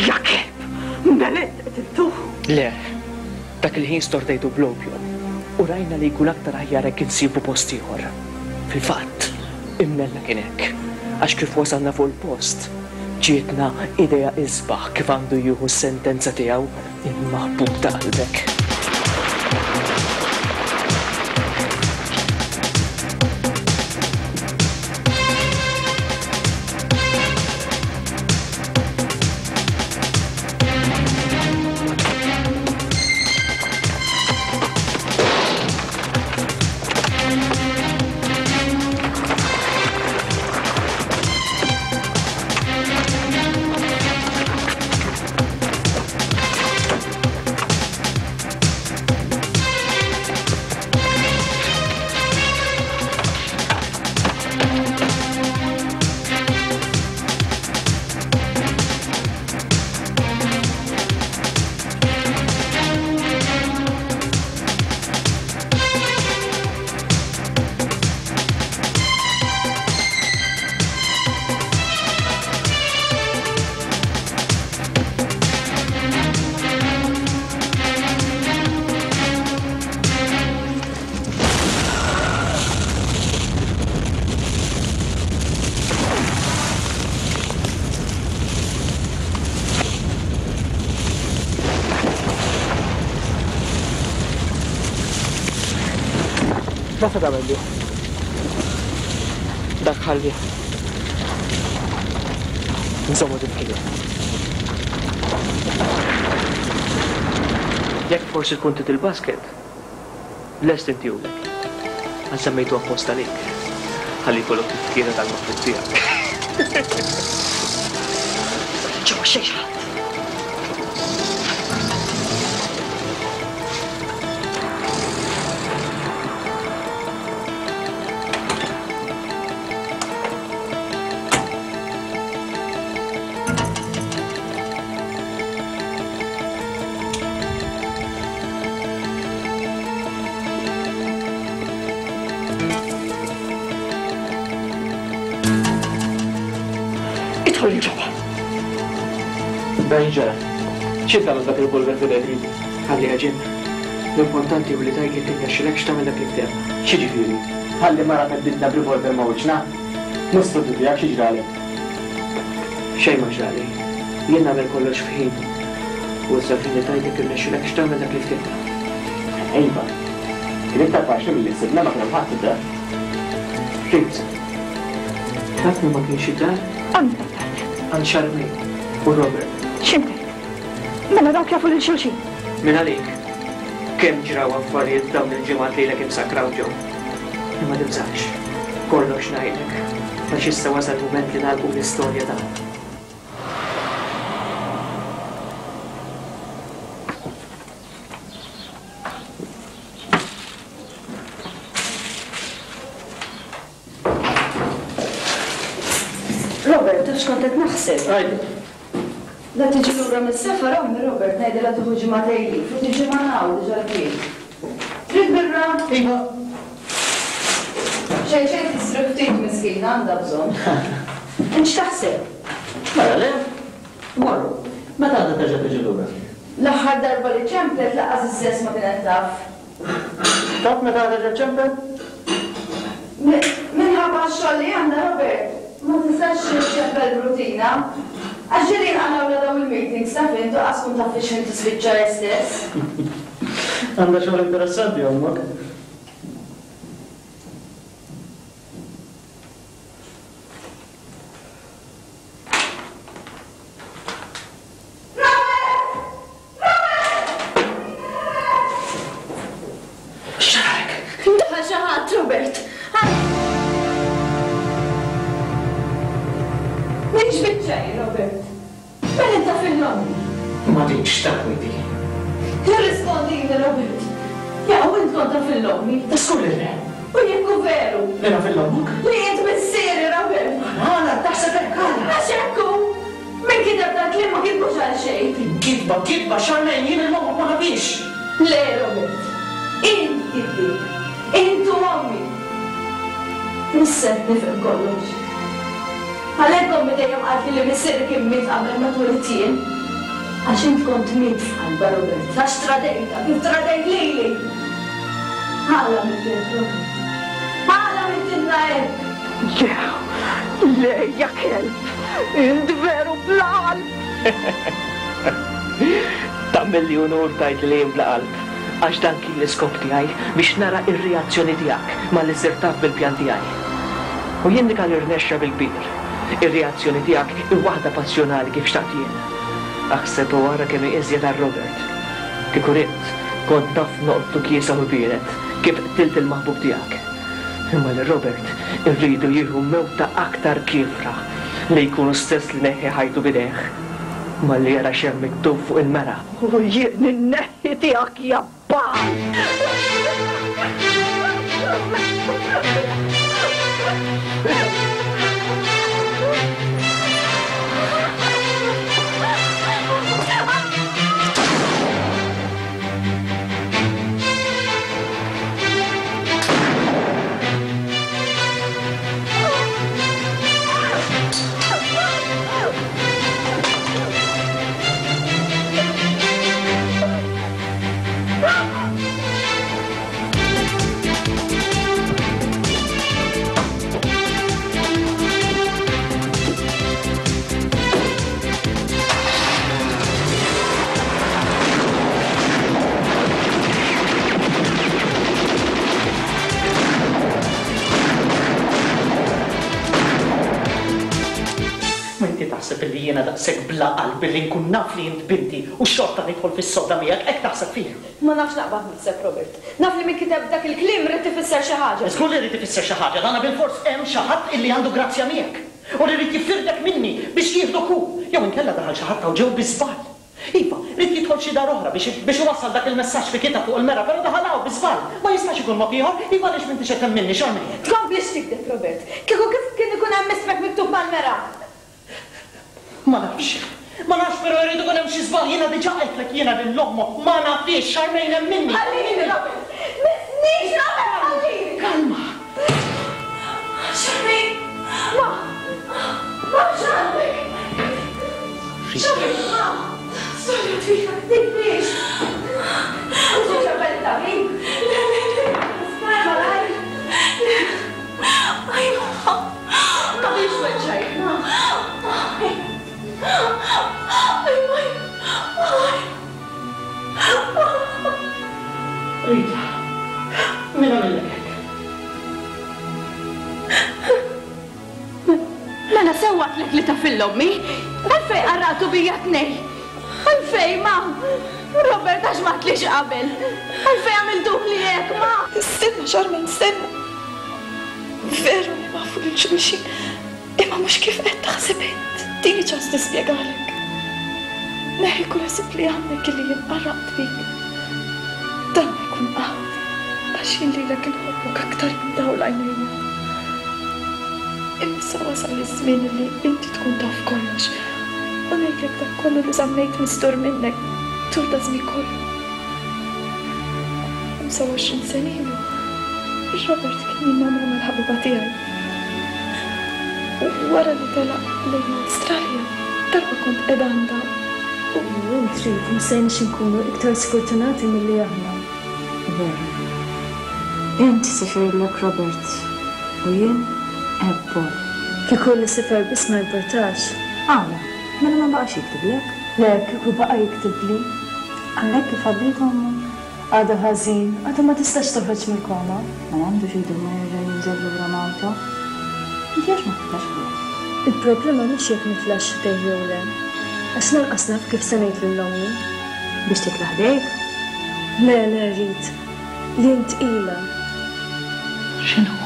Ja kelb! Mela int qtiltu? Le, dak il-ħin stordejtu bl-opium u rajna li jkun aktar aħjar hekk insibu post ieħor. Fil-fatt, imnella kien hekk, għax kif wasalna fuq il-post, ġietna idea isbaħ kif għandu jieħu s-sentenza tiegħu il-maħbub ta' qalbek. Dak se tagħmel bih? Dak ħallih. Nżommu tifkira. Jekk forsi tkun trid il-basket, lest intihulek. Għax semmejtu apposta għalik. Ħalli jkollok tifkira tal-maħbub tiegħek. Ġewwa xejn ħadd. Idħol ġewwa. Dan ġara. Xi tagħmel dak il-revolver f'idejk Rita? Ħalliha Jim. L-importanti hu li tgħid jekk irnexxilekx tagħmel dak li ftehemna. X'jiġifieri? Tħalli mara theddidna b'revolver ma' wiċċna? Mhux s-soltu tiegħek, xi ġralek? Xejn ma ġrali. Jien nagħmel kollox f'ħinu. U issa l-ħin li tgħid jekk irnexxilekx tagħmel dak li ftehemna. Iva. Kien iktar faċli milli ħsibna ma kien hemm ħadd id-dar. Fhimt. Taf min ma kienx id-dar? Għand min tgħid? Għand Charmaine u Robert. X'int tgħid? Mela dawk jafu lil xulxin. Minn għalik. Kemm ġraw affarijiet f'dawn il-ġimgħat lilek imsakkra hawn ġew. Imma tibżax. Kollox ngħidlek. Għax issa wasal il-mument li nagħlqu l-istorja tagħna. Robert, taf x'kont qed naħseb? Għidli. La tiġi lura mis-safar ommi Robert ngħidilha tieħu ġimgħatejn leave u tiġi magħna hawn diġà l-kien. Trid birra? Iva. Xejn xejn tistrieħ ftit miskina għandha bżonn. Int x'taħseb? Mela le, morru. Meta għandha terġa' tiġi lura? L-aħħar darba li ċemplet lanqas is-sess ma kienet taf. Taf meta terġa' ċċempel? Minħabba x-xogħol li għandha Robert, ma tistax iċċempel b'rutina. Għax ġieli jinqalgħulha dawn il-meetings taf int u qas tkun taf fiex ħin tispiċċa hi stess. Għandha xogħol interessanti ommok. X'ġaralek? Daħal xi ħadd, Robert! M'intx biċċa jien, Robert. Mela int taf lil ommi. Ma tgħidx takwiti. Irrispondini, Robert. Jaqaw int kont taf lil ommi? Ta' żgur li le. U jekk hu veru? Li naf lil ommok? Li int missieri, Robert. Għala taħseb hekk, għala? Għax hekk hu! Min kiteb dal-kliem ma kitbux għal xejn. Kitba, kitba, Charmaine, jien 'il ommok ma nafhiex! Le, Robert. Int kittieb. Int u ommi. Issa qed nifhem kollox. Għalhekk ommi dejjem qaltli li missieri kien miet qabel ma twelidt jien. Għax int kont miet f'qalbha, Robert, għax tradejtha kif tradejt lili! Għala għamilt hekk, Robert? Għala għamiltilna hekk? Le, le, ja kelb! Int veru bla qalb! Tagħmilli unur tgħidli li jien bla qalb, għax dan kien l-iskop tiegħi biex nara r-reazzjoni tiegħek malli sirt taf bil-pjan tiegħi. U jindika li rnexxa bil-kbir. Ir-reazzjoni tiegħek hi waħda passjonali kif xtaqt jien. Aħseb u ara kemm hi iżjed għal Robert. Kieku ridt, kont naf noqtlu kiesaħ u biered kif qtilt il-maħbub tiegħek. Imma lil Robert irridu jieħu mewta aktar kiefra, li jkun hu stess li neħħi ħajtu b'idejh, malli jara x'hemm miktub fuq il-mera. U jien inneħħi tiegħek ja bagħal! daqshekk bla qalb li nkun naf li int binti u xorta nidħol fis-sodda miegħek, hekk taħseb fija? Ma nafx naqbad naħseb, Robert. Naf li min kiteb dak il-kliem ried ifisser xi ħaġa. Żgur li ried ifisser xi ħaġa, dana bilfors hemm xi ħadd illi għandu grazzja miegħek u li ried jifirdek minni biex jieħdok hu, jew inkella daħal xi ħadd hawn ġew bi żball. Iva, ried jidħol xi dar oħra biex biex iwassal dak il-messaġġ li kiteb fuq il-mera, però daħal hawn bi żball. Ma jistax ikun mod ieħor. Iva għaliex m'intix qed temminni, Charmaine? Tkomplix tigdeb, Robert. Kieku kif kien ikun hemm ismek miktub mal-mera? Ma nafx. Ma nafx però jrid ikun hemm xi żball. Jiena diġà għedtlek jiena lil ommok ma nafhiex, Charmaine emminni. Ħallini, Robert. Missnix, Robert, ħallini! Kalma. Charmaine! Ma! Ma x'għandek? Charmaine, ma! Storja twila, tibkix! Inti ċempel it-tabib? Le, le, le! Spar malajr! Le! Aj, ma! Ma biex weġġajt, ma! Aj! Aj, aj! Aj! Rita, min għamillek hekk? Mela sewwa għedtlek li taf 'il ommi. Għalfejn qarraqtu bija t-tnejn? Għalfejn, ma? Robert għax m'għedtlix qabel? Għalfejn għamiltuhli hekk, ma? Stenna, Charmaine, stenna. Veru li nafu lil xulxin, Imma mhux kif qed taħseb int. Tini ċans nispjegalek. Neħħi kull ħsieb li għandek illi jien qarraqt bik. Dan ma jkun qatt, għax jien lilek inħobbok aktar minn dawl għajnejja. Imma issa wasal iż-żmien illi inti tkun taf kollox u ngħidlek dak kollu li żammejt mistur minnek tul daż-żmien kollu. 25 sena ilu, Robert kien jinnamra mal-ħabiba tiegħi. U wara li telaq lejn l-Awstralja, darba kont qiegħda għandha u. U int trid ma stajniex inkunu iktar sfortunati milli aħna. Veru. Int sifirlek Robert u jien għeb Paul. Kieku li sifer biss ma jimpurtax. Għala? Mela ma baqax jiktiblek? Le, kieku baqa' jiktibli. Qalek kif għaddiet ommu? Għadha ħażin, għadha ma tistax toħroġ mill-koma. Mela għandu xi jdum ma jerġa' jinżel lura Malta. Inti għax ma titlax ħdejh? Il-problema mhux jekk nitlax ħdejh jew le. Għax lanqas naf kif se ngħid lil ommi. Biex titla' ħdejk? Le, le, rrid. Jien tqila. X'inhu?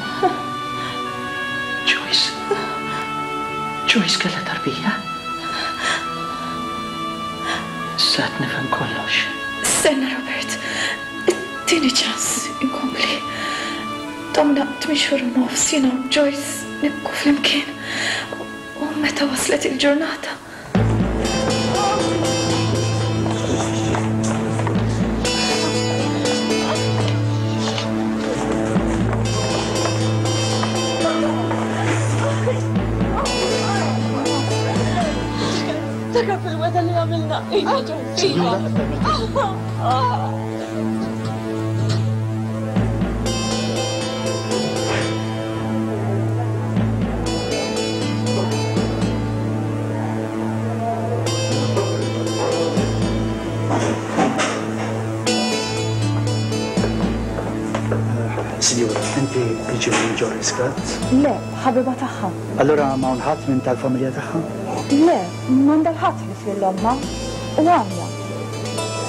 Joyce? Joyce kellha tarbija? Issa qed nifhem kollox. Stenna Robert, tini ċans inkompli. Domna tmien xhur u nofs jiena u Joyce nibku flimkien u meta waslet il-ġurnata. Ftakar fil-wegħda li għamilna. Iva, Joyce, iva. Sinjura, inti tiġi minn Joyce Gatt? Le, ħabiba tagħha. Allura m'hawn ħadd minn tal-familja tagħha? Le, m'għandha l-ħadd ħlief lil ommha u għamja.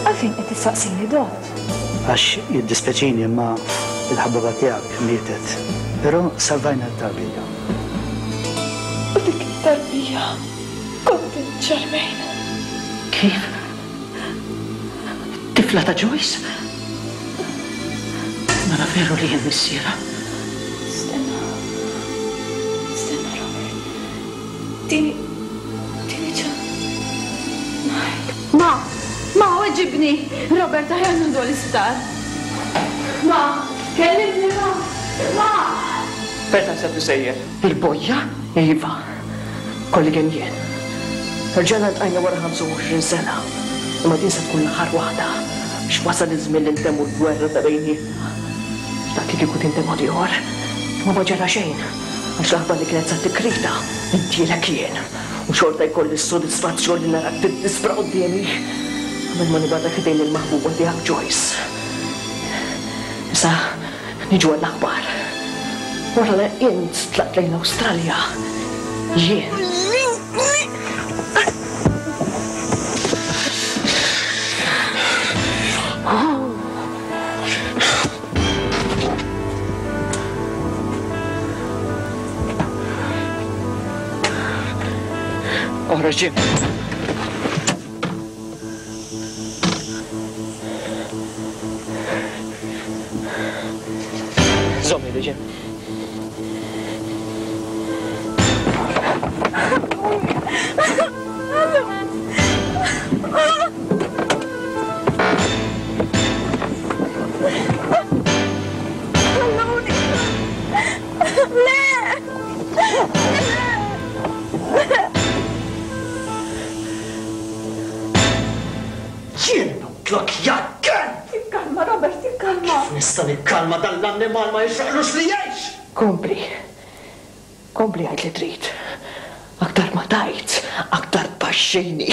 Għalfejn qed tistaqsini, Dott? Għax jiddispjaċini imma l-ħabiba tiegħek mietet. Però salvajna t-tarbija. U dik it-tarbija kont int Charmaine. Kif? Tifla ta' Joyce? Mela veru li jien missierha. Stenna. Stenna, Robert. Tini. Tini ċans. Ma! Ma, weġibni! Robert aħjar nieħdu l-isptar. Ma! Kellimni, ma! Ma! Fejn taħseb li sejjer? Il-bojja? Iva. Kolli kemm jien. Erġajna ltqajna wara 25 sena. Imma din se tkun l-aħħar waħda. Għax wasal iż-żmien li ntemmu l-gwerra ta' bejnietna. Xtaqt li kieku tintemm mod ieħor. Imma ma ġara xejn. Għax l-aħbar li kienet sa tikkrita, ngħiddielek jien. U xorta jkolli s-sodisfazzjon li narak tiddispra quddiemi. Qabel ma nibgħatek ħdejn il-maħbuba tiegħek Joyce. Issa Niġu għall-aħbar. Wara li int tlaqt lejn l-Awstralja, jien. Oħroġ Jim. Żomm idi Jim. Jien noqtlok ja kelb! Ikkalma, Robert, ikkalma! Kif nista' nikkalma dan l-annimal ma jixraqlux li jgħix! Kompli. Kompli għid li trid. Aktar ma tgħid, aktar tpaxxini.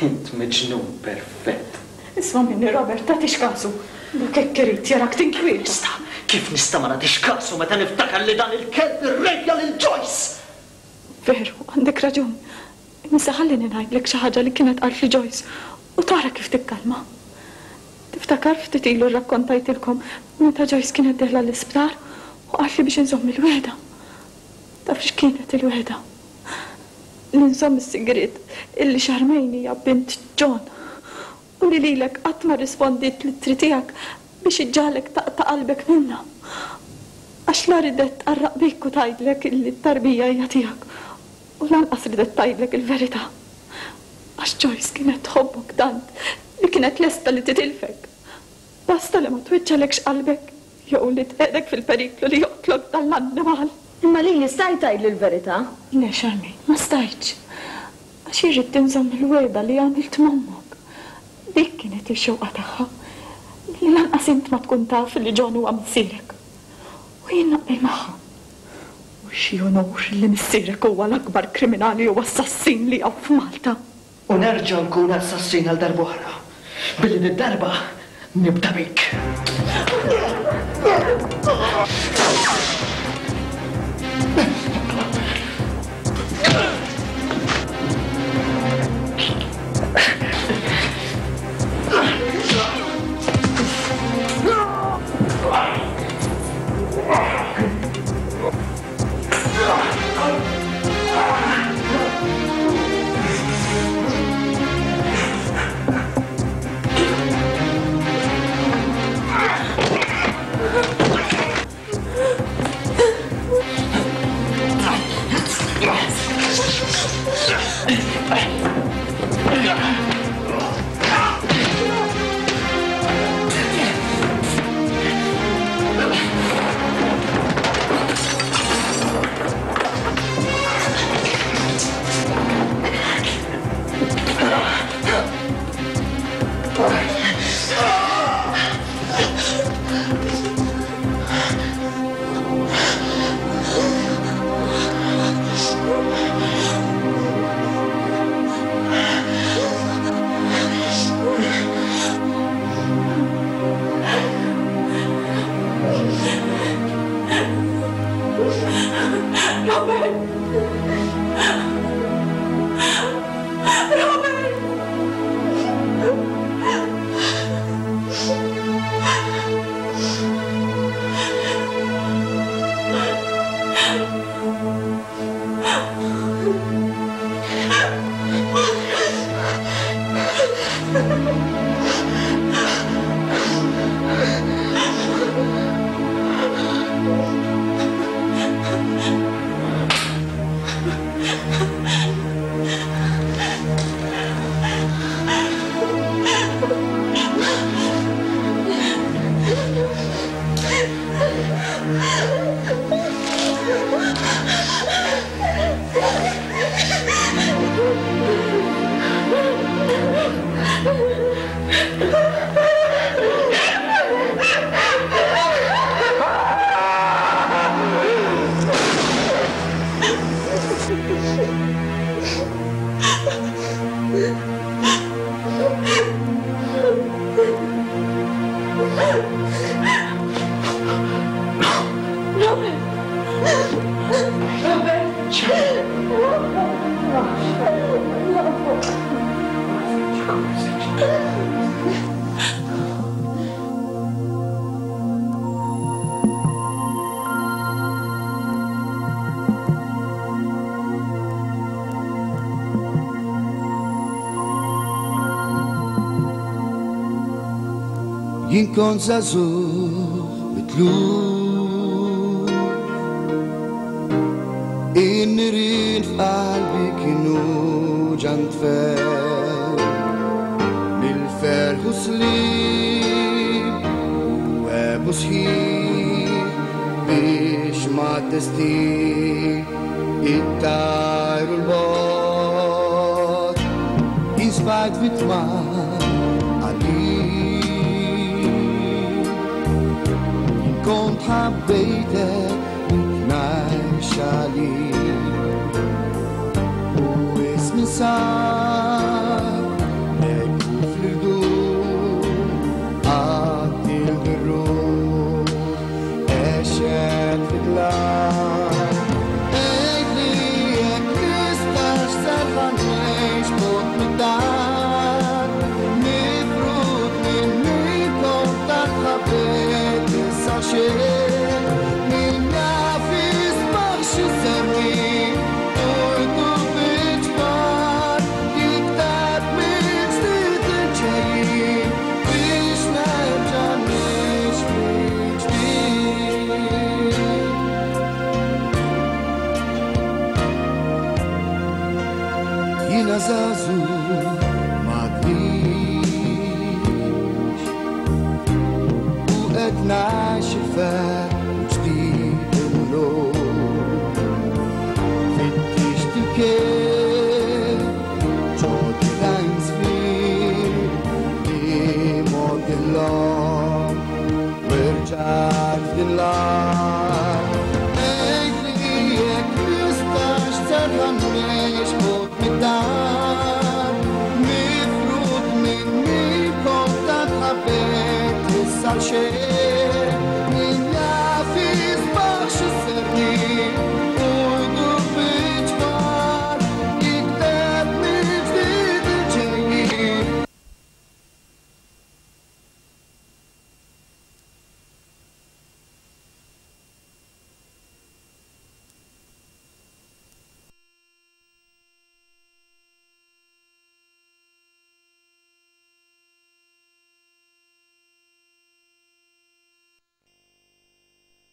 Int miġnun perfett. Isma' minni, Robert, tagħtix kasu. Dak hekk irid jarak tinkwieta. Nista'? Kif nista' ma nagħtix kasu meta niftakar li dan il-kelb irrejpja lil Joyce? Veru, għandek raġun. Imma issa ħallini ngħidlek xi ħaġa li kienet qaltli Joyce u tara kif tikkalma. Tiftakar ftit ilu rrakkontajtilkom meta Joyce kienet dieħla l-isptar u qaltli biex inżomm il-wegħda. Taf x'kienet il-wegħda? Li nżomm is-sigriet illi Charmaine hija bint John u li lilek qatt ma rrispondiet l-ittri tiegħek biex iġġagħlek taqta' qalbek minnha. Għax la ridet tqarraq bik u tgħidlek illi t-tarbija hija tiegħek u lanqas ridet tgħidlek il-verità. Għax Joyce kienet tħobbok tant li kienet lesta li titilfek. Basta li ma tweġġagħlekx qalbek jew li tqiegħdek fil-periklu li joqtlok dan l-annimal. Imma lili stajt tgħidli l-verità? Le, Charmaine, ma stajtx. Għax jien ridt inżomm il-wegħda li għamilt m'ommok. Dik kienet ix-xewqa tagħha, li lanqas int ma tkun taf li John huwa missierek. U jien naqbel magħha. U xi unur li missierek huwa l-akbar kriminali u assassin li hawn f'Malta. U nerġa' nkun assassin għal darb'oħra, billi did-darba nibda bik. Robert! Robert! Robert! Jien kont żagħżugħ mitluf. In-nirien f'qalbi kienu ġa ntfew. Mill-ferħ u sliem u għebu sħiħ biex mad-destin ittajru 'l bogħod. Jien sfajt vittma għalik. Jien kont ħabbejtek mitnajr xalik. U ismi sar ekku fl-irdum, qattil bir-ruħ, għexet fid-dlam. Għidli jekk nistax serħan ngħix bogħod mid-dar, mifrud minn min kont tant ħabbejt issa xejn. Min jaf isbaħ x'isemmi, urtu fiċ-ċfar, jikteb mill-ġdid il-ġejjin biex nerġa' ngħix mill-ġdid. Jiena żagħżugħ m'għadnix u qed ngħix il-ferħ ġdid illum. Fittixt il-kien ġoddi tajn żmien li mogħdilhom u rġajt f'din l-art. Għidli jekk nistax terġa' ngħix bogħod mid-dar, mifrud minn min kont tant ħabbejt issa xejn.